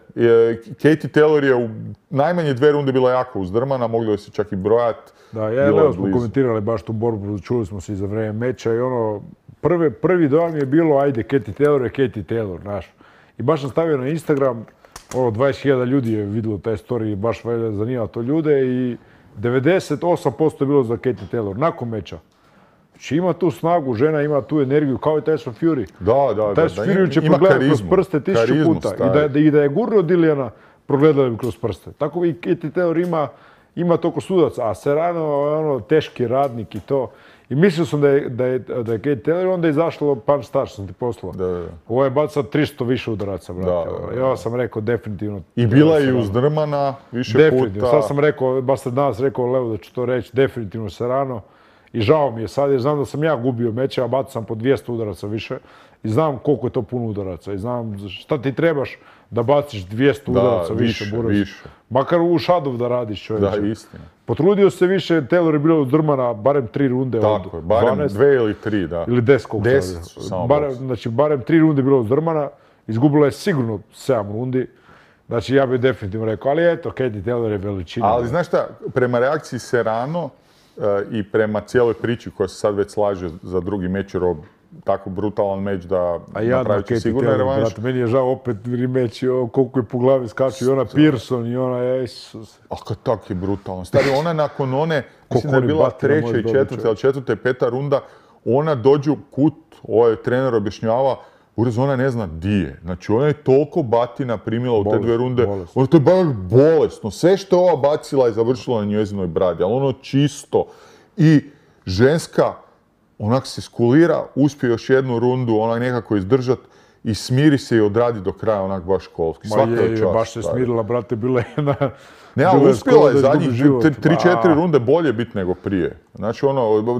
Katie Taylor je u najmanje 2 runde bila jako uzdrmana, mogli joj se čak i brojati. Da, ja i Leo smo komentirali baš tu borbu, čuli smo se i za vrijeme meča i prvi dojam je bilo, ajde, Katie Taylor je Katie Taylor, znaš. I baš sam stavio na Instagram, 20.000 ljudi je vidjelo taj story i baš zanimalo to ljude i 98% je bilo za Katie Taylor, nakon meča. Znači ima tu snagu, žena ima tu energiju, kao i Tyson Fury. Da. Tyson Fury će progledati kroz prste 1000 puta. I da je gurno Dilijana, progledali bi kroz prste. Tako i Katie Taylor ima toliko sudaca, a Serrano je teški radnik i to. I mislio sam da je Katie Taylor, onda je izašlo punch start, sam ti poslao. Ovo je baca 300 više udaraca, brate. Ja sam rekao definitivno. I bila je uzdrmana više puta. Sad sam rekao, baš sam danas rekao Leo da ću to reći, definitivno Serrano. I žao mi je sad jer znam da sam ja gubio meče, a bacao sam po 200 udaraca više. I znam koliko je to puno udaraca. I znam šta ti trebaš da baciš 200 udaraca više. Makar u šadov da radiš, čovječe. Da, istina. Potrudio se više, Taylor je bila uzdrmana barem 3 runde od 12. Tako je, barem 2 ili 3, da. Ili 10 koliko. 10 su samo boks. Znači, barem 3 runde je bila uzdrmana. Izgubila je sigurno 7 rundi. Znači, ja bih definitivno rekao, ali eto, Katie Taylor je veličina. Ali znaš šta, prema reakciji Serrano i prema cijeloj priči koja se sad već slaže za drugi meč, jer tako brutalan meč da napravit će sigurno revanš. Meni je žao opet remeč, koliko je po glavi skaču i ona Pearson i ona, Jesus. A kad tak je brutalan. Stari, ona nakon one, mislim da je bila 3. i 4. ali 4. i 5. runda, ona dođe u kut, ovaj trener objašnjava, Uraz, ona ne zna di je. Znači, ona je toliko batina primila u te 2 runde. Ono to je baš bolesno. Sve što je ova bacila je završilo na njezinoj bradi. Ali ono čisto. I ženska, onak se skulira, uspije još 1 rundu, onak nekako izdržat i smiri se i odradi do kraja, onak baš školski. Svaka je čast. Baš se smirila, brate, bila jedna... Ne, ali uspjela je zadnjih 3-4 runde bolje biti nego prije. Znači,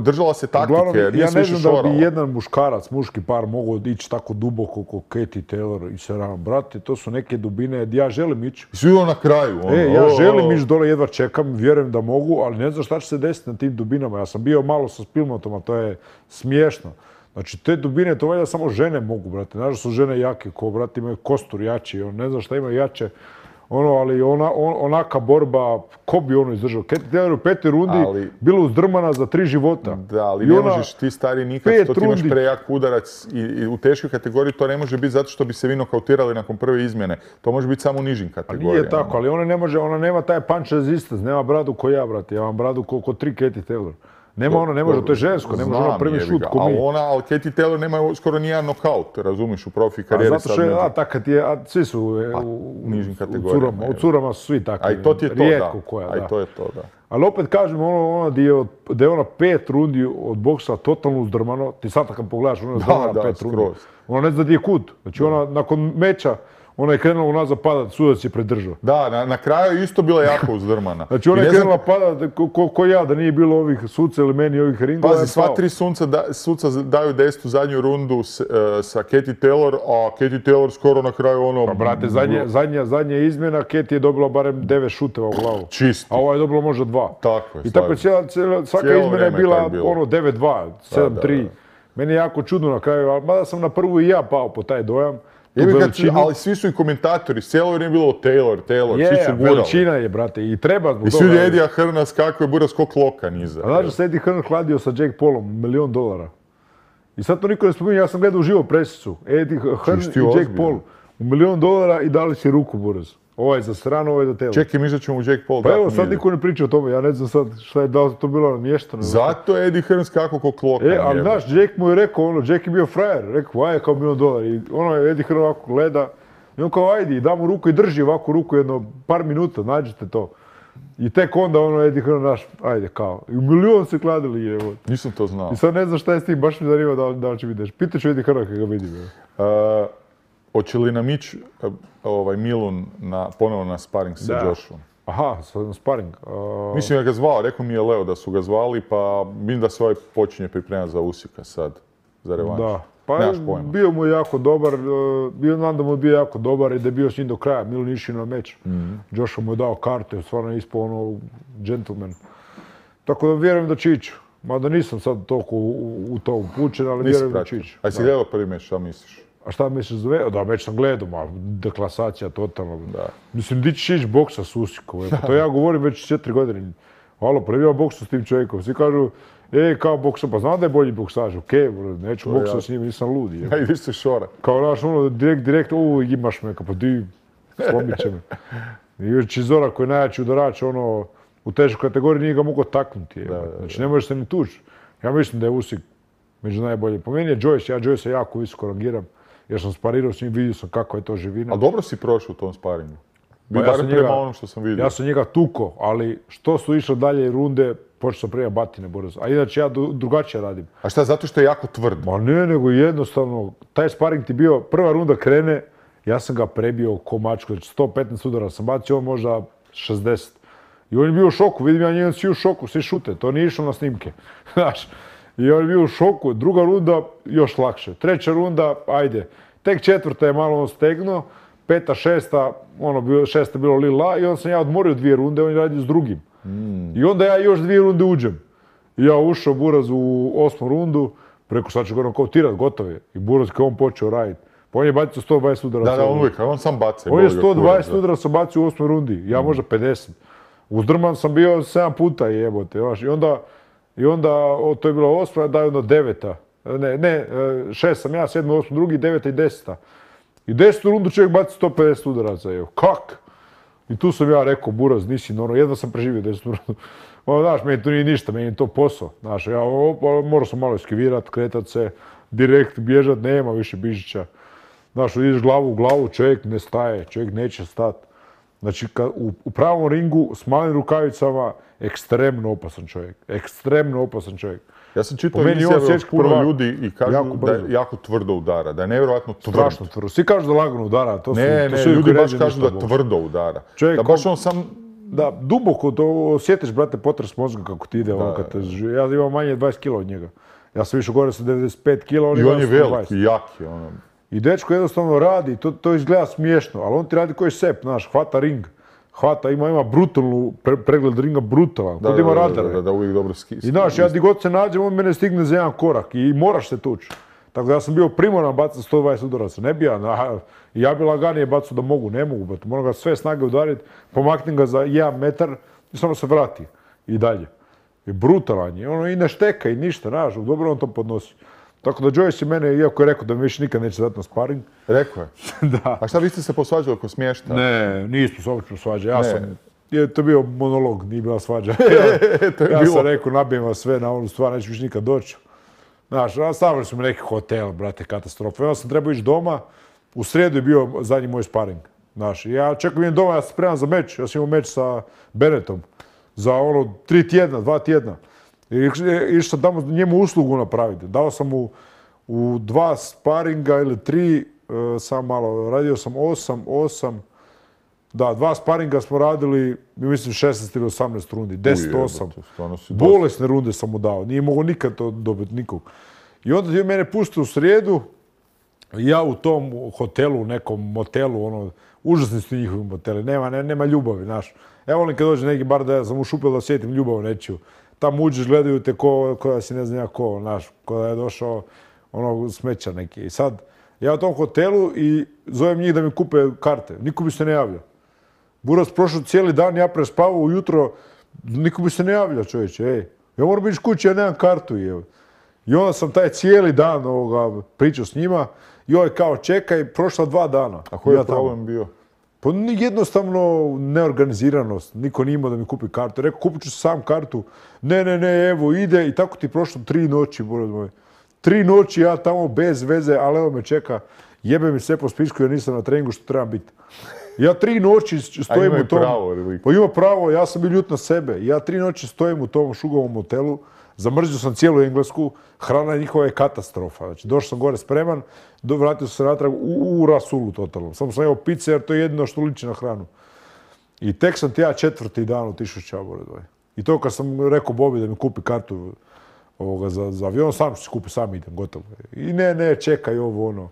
držala se taktike, nije se više šorala. Ja ne znam da bi jedan muškarac, muški par mogao ići tako duboko kao Katie Taylor i Serrano. Brate, to su neke dubine, ja želim ići. I svi na kraju. Ja želim ići dole, jedva čekam, vjerujem da mogu, ali ne znam šta će se desiti na tim dubinama. Ja sam bio malo sa Spilmotom, a to je smiješno. Znači, te dubine, to valjda samo žene mogu, brate. Znaš da su žene jake, ko, brate, imaju kostur jači, ne znam šta ima jače. Ali onaka borba, ko bi izdržao? Katie Taylor u 5. rundi bila uzdrmana za 3 života. Da, ali ne možeš ti stari nikad, to ti imaš prejak udarac i u teškoj kategoriji to ne može biti zato što bi se vi nokautirali nakon prve izmjene. To može biti samo u nižim kategorijama. Nije tako, ali ona nema taj punch resistance, nema bradu ko ja, brate. Ja imam bradu ko 3 Katie Taylor. Nema ona, ne može, to je žensko, ne može ona prvi šut ko mi. Ali Katie Taylor nema skoro nijedan nokaut, razumiš, u profi karijeri. Zato što je, tako ti je, svi su u nižim kategorijama. U curama su svi takvi. A i to ti je to, rijetko koja, da. A i to je to, da. Ali opet kažem, da je ona 5 rundi od boksa totalno uzdrmano, ti sad kad pogledaš, ona je uzdrmana 5 rundi. Ona ne zna gdje je kut. Znači ona nakon meča, ona je krenula unazad padat, sudac je predržao. Da, na kraju je isto bila jako uzdrmana. Znači ona je krenula padat ko ja, da nije bilo ovih suca ili meni ovih ringova. Pazi, sva 3 suca daju 10. zadnju rundu sa Katie Taylor, a Katie Taylor skoro na kraju ono... Pa brate, zadnja izmjena, Katie je dobila barem 9 šuteva u glavu. Čisto. A ova je dobila možda 2. Tako je. I tako svaka izmjena je bila 9-2, 7-3. Meni je jako čudno na kraju, mada sam na prvu i ja pao po taj dojam. Ali svi su i komentatori, cijelo vrijeme je bilo Taylor, svi su gurali. Veličina je, brate, i treba zbog toga. I svi Edija Hearna skako je buraz kog loka niza. A znaš da se Eddie Hearn hladio sa Jake Paulom, $1 milion. I sad to niko ne spominje, ja sam gledao uživo presicu. Eddie Hearn i Jake Paul u $1 milion i dali si ruku buraz. Ovaj za Serrano, ovaj za Taylor. Čekaj, mi ćemo u Jake Paul. Pa evo, sad niko ne priča o tome, ja ne znam sad šta je, da li to bilo namješteno. Zato je Eddie Hearn skako kog loka. Ali znaš, Jake mu je rekao, Jake je bio frajer, rekao, aj je kao $1 milion. I je Eddie Hearn ovako gleda, i on kao, ajde, da mu ruku i drži ovako ruku jedno par minuta, nađite to. I tek onda ono Eddie Hearn naš, ajde kao. I u milion se kladili evo. Nisam to znao. I sad ne znam šta je s tim, baš mi zanima da li će vidjeti. Pitaću Eddie Hearna kada ga vidim. Hoće li nam ići Milun ponovo na sparing sa Joshom? Aha, na sparing. Mislim da ga zvao, rekao mi je Leo da su ga zvali, pa vidim da se počinje pripremati za Usika sad, za revanš. Da, pa bio mu je jako dobar, znam da mu je bio jako dobar i da je bio s njim do kraja. Milun išao na meč. Joshua mu je dao karte, stvarno je ispao gentleman. Tako da vjerujem da će ići. Mada nisam sad toliko u to upućen, ali vjerujem da će ići. A si gledao prvi meč, šta misliš? A šta misliš za Da, meč sam gledao, deklasacija totalno. Mislim, di ćeš ići boksa s Usikom? To ja govorim već 4 godine. Alo, prvi ja boksu s tim čovjekom. Svi kažu, kao boksa, pa znam da je bolji boksaž, okej, neću boksa s njim, nisam ludi. A idi se šora. Kao naš, direkt, imaš me, pa di, slomit će me. I još Čizora koji je najjači udarač, u težoj kategoriji nije ga mogao taknuti. Znači, ne možeš se ni tući. Ja mislim da je Usik među najbolji. Po meni je Joyce, ja Joyce jako visoko rangiram. Jer sam sparirao s njim, vidio sam kako je to živina. A dobro si prošao u tom sparingu. Barem prema onom što sam vidio. Ja sam njega tuko, ali što su išle dalje runde, počeo sam prije batine brzo. A inače ja drugačije radim. A šta, zato što je jako tvrd? Ma ne, nego jednostavno, taj sparing ti bio, prva runda krene, ja sam ga prebio ko mačku, znači 115 udara sam bacio, on možda 60. I on je bio u šoku, vidim ja njegov svi u šoku, svi šute, to nije išlo na snimke. Znaš, i on je bio u šoku, druga runda još lakše, treća runda, ajde, tek četvrta je malo on stegnuo, peta, šesta, šesta je bilo lila i onda sam ja odmorio 2 runde, on je radio s drugim. I onda ja još 2 runde uđem. I ja ušao Buraz u 8. rundu, preko sad ću ga nokautirati, gotov je. I Buraz kao on počeo raditi. Pa on je bacio 120 udara. Da, on uvijek, on sam baca. On je 120 udara sam bacio u 8. rundi, ja možda 50. Uzdrman sam bio 7 puta jebote, znaš. I onda, to je bilo 8, da je onda 9. Ne, 6 sam ja, 7, 8, drugi, 9 i 10. I 10. rundu čovjek baci 150 udaraca, evo. Kak? I tu sam ja rekao, Buraz, nisi normalno, jedva sam preživio 10. rundu. Znaš, meni to nije ništa, meni je to posao. Znaš, ja morao sam malo eskivirat, kretat se, direkt bježat, nema više Bižića. Znaš, ideš glavu u glavu, čovjek ne staje, čovjek neće stati. Znači, u pravom ringu s malim rukavicama, ekstremno opasan čovjek. Ekstremno opasan čovjek. Ja sam čitao izjave puno ljudi i kažu da je jako tvrdo udara, da je nevjerojatno tvrd. Strašno tvrdo. Svi kažu da lagano udara. Ne, ljudi baš kažu da tvrdo udara. Da baš on sam... Da, duboko to osjetiš, brate, potres mozga kako ti ide. Ja imam manje 20 kila od njega. Ja sam više gore sa 95 kila, on je 20. I on je velik i jak je. I dečko jednostavno radi, to izgleda smiješno, ali on ti radi koji sep, znaš, hvata ring. Hvata, ima brutalnu, pregled ringa brutalan, kod ima radare. Da, uvijek dobro ski. I znaš, ja di god se nađem, on mene stigne za jedan korak i moraš se tući. Tako da ja sam bio primoran bacati 120 udaraca, ne bi ja bi laganije bacao da mogu, ne mogu, moram ga sve snage udariti, pomaknem ga za 1 metar i samo se vrati i dalje. I brutalan je, i ne šteka i ništa, znaš, dobro on to podnosi. Tako da Joyce je mene, iako je rekao da mi više nikad neće dati na sparing. Rekao je? Da. A šta, vi ste se posvađali oko smješta? Ne, nismo se uopće posvađali. To je bio monolog, nije bila svađa. Ja sam rekao, nabijem vas sve na onu stvar, neću više nikad doći. Znaš, stavili su mi neki hotel, brate, katastrofa. Onda sam trebao ići doma, u srijedu je bio zadnji moj sparing. Znaš, ja čekam idem doma, ja sam spreman za meč. Ja sam imao meč sa Bennettom za 3 tjedna, 2 tjedna. Išao sam tamo njemu uslugu napraviti. Dao sam mu u 2 sparinga ili 3, sam malo, radio sam 8, da, 2 sparinga smo radili, mislim 16 ili 18 rundi, 10-8. Bolesne runde sam mu dao, nije mogao nikad to dobiti nikog. I onda je mene pustio u srijedu, ja u tom hotelu, nekom motelu, užasni su njihovi moteli, nema ljubavi, znaš. Evo volim kad dođe neki bar da ja sam ušupio da sjetim ljubav nečiju. Tamo uđeš, gledaju te ko da si ne znam ja ko, znaš, ko da je došao smeća neki. I sad, ja u tom hotelu i zovem njih da mi kupe karte. Niko mi se ne javlja. Buraz prošao cijeli dan, ja prespavao ujutro, niko mi se ne javlja, čovječe, ja moram biti kući, ja nemam kartu, I onda sam taj cijeli dan pričao s njima i ovaj kao čekaj, prošla 2 dana. A koji je problem bio? Pa jednostavno neorganiziranost. Niko nije imao da mi kupi kartu. Rekao, kupit ću sam kartu. Ne, evo ide i tako ti prošlo 3 noći, Buraz moj. 3 noći ja tamo bez veze, ali evo me čeka. Jebe mi sve po spisku jer nisam na treningu što trebam biti. Ja 3 noći stojim u tom... pravo, Pa ima pravo, ja sam bio ljut na sebe. Ja 3 noći stojim u tom šugovom hotelu, zamrzio sam cijelu Englesku, hrana njihova je katastrofa. Znači, došao sam gore spreman, vratio sam se natrag u rasulu totalno. Samo sam jeo pice jer to je jedino što liči na hranu. I tek sam ti ja 4. dan otišao s Čabore. I to kad sam rekao Bobi da mi kupi kartu za avion, sam ću si kupi, sam idem, gotovo. I ne, čekaj ovo, ono.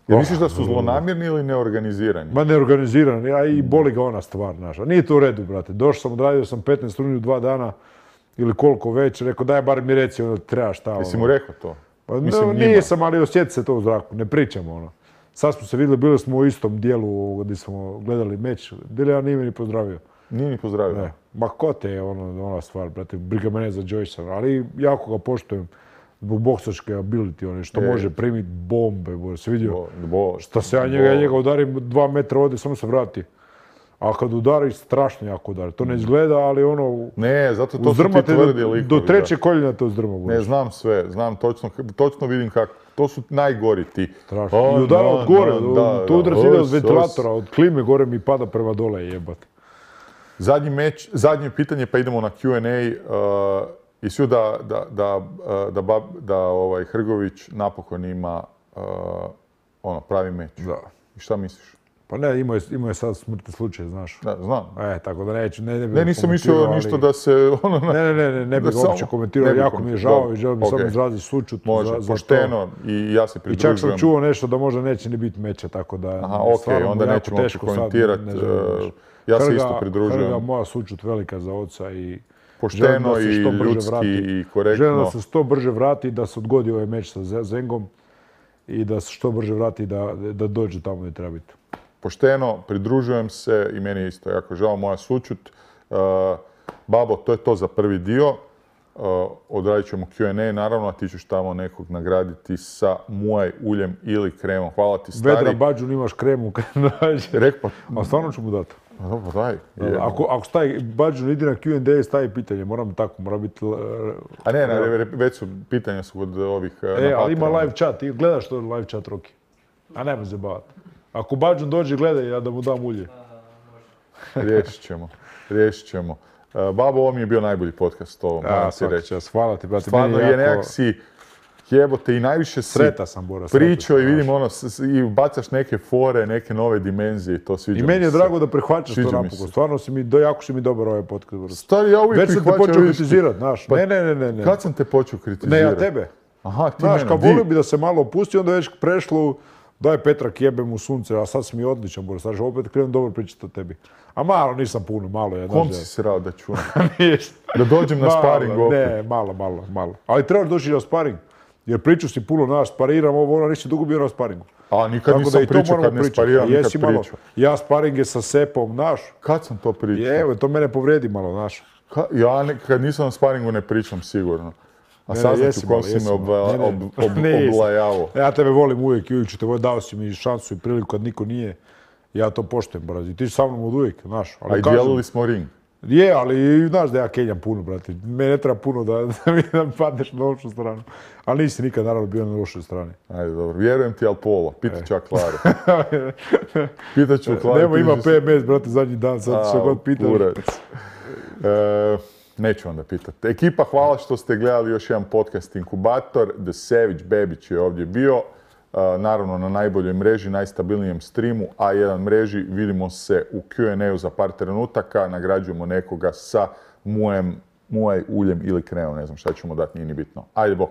Jer misliš da su zlonamjerni ili neorganizirani? Ma neorganizirani, a i boli ga ona stvar, naša. Nije to u redu, brate. Došao sam, odradio sam 15 runi u 2 dana, ili koliko već, rekao daj bar mi reci onda treba šta. Jesi mu rekao to? Pa nisam, ali osjeti se to u zraku, ne pričamo ono. Sad smo se vidjeli, bili smo u istom dijelu gdje smo gledali meč. Dilija nije mi ni pozdravio. Nije ni pozdravio? Ne. Ma ko te je ona stvar, brate, briga mene za Joyce, ali jako ga poštujem zbog boksačke ability, što može primiti bombe, se vidio. Šta se ja njega udarim 2 metra ovdje, samo se vrati. A kad udari, strašno jako udari. To ne izgleda, ali ono... Ne, zato to su ti tvrdi likovi. Do 3. koljena to uzdrma. Ne, znam sve, znam točno vidim kako. To su najgori ti. Strašno. I udara od gore, to udara ide od ventilatora, od klime gore mi pada prema dole, jebate. Zadnje pitanje, pa idemo na Q&A. I svi da Hrgović napokon ima pravi meč. Da. I šta misliš? Pa ne, imao je sad smrtni slučaj, znaš. Da, znam. Tako da neću, ne nisam mislio ništa da se... Ne bih uopće komentirao, jako mi je žao i želim samo izraziti sućut za to. Može, pošteno i ja se pridružujem. I čak sam čuo nešto da možda neće ni biti meća, tako da... Aha, okej, onda nećemo uopće komentirati. Ja se isto pridružujem. Hrga, moja sućut velika za oca i... Pošteno i ljudski i korektno. Želim da se što brže vrati, da se odgodi ovaj meč sa Zengom i da se što brže vrati da dođe tamo gdje treba biti. Pošteno, pridružujem se i meni je isto jako žao, moja sućut. Babo, to je to za prvi dio. Odradit ćemo Q&A, naravno, a ti ćeš tamo nekog nagraditi sa muaj uljem ili kremom. Hvala ti, stari. Vedra Bađun, imaš kremu kad nađe. A stvarno ću mu dati. Dobro, daj. Ako stavi Bađun, idi na Q&A i stavi pitanje, mora biti... A ne, već su pitanja su kod ovih... ali ima live chat, ti gledaš to live chat, Roki. A nema se bavati. Ako Bađun dođe, gledaj, ja da mu dam ulje. Riješit ćemo. Babo, ovo mi je bio najbolji podcast, to moram ti reći. Hvala ti, brate. Stvarno je nekak si jebote i najviše si sreta sam, Bora. Pričao i vidim i bacaš neke fore, neke nove dimenzije, to sviđa mi se. I meni je drago da prihvaćaš to napokon. Stvarno jako si mi dobar ovaj podcast. Stari, ja uvijek prihvaćam. Već sam te počeo kritizirati, znaš. Ne. Kad sam te počeo kritizirati? Ne, ja tebe. Aha, ti mene. Znaš, kad volio bi da se malo opusti, onda već prešlo daj Petrak, jebem u sunce, a sad si mi odličan, Boris. Znači, opet krenem dobro pričati o tebi. A malo, nisam puno, malo je. Kom si se rao da čujem? Da dođem na sparing opet? Ne, malo. Ali trebaš doći na sparing. Jer priču si puno, naš, spariram ovo, nisi dugo bio na sparingu. A nikad nisam pričao, kad ne spariram, nikad pričao. Ja sparinge sa Sepom, naš. Kad sam to pričao? Evo, to mene povredi malo, naš. Ja kad nisam na sparingu ne pričam, sigurno. A saznat ću kom si me oblajavo. Ja tebe volim uvijek i uvijek ću te voljeti, dao si mi šansu i priliku kad niko nije. Ja to poštujem, brate. I ti si sa mnom od uvijek, znaš. A i dijelili smo ring. Je, ali znaš da ja kenjam puno, brate. Mene ne treba puno da padneš na lošu stranu. Ali nisi nikad naravno bio na lošoj strani. Ajde, dobro. Vjerujem ti, ali pola. Pitat ću Klaru. Pitat ću Klaru. Nemo, ima PMS, brate, zadnji dan. Sad što god pitaš. Neću onda pitati. Ekipa, hvala što ste gledali još jedan podcast Inkubator. The Savage Bebić je ovdje bio. Naravno na najboljoj mreži, najstabilnijem streamu, A1 mreži. Vidimo se u Q&A-u za par trenutaka. Nagrađujemo nekoga sa muaj uljem ili kremom. Ne znam šta ćemo dati, nije ni bitno. Ajde, bok.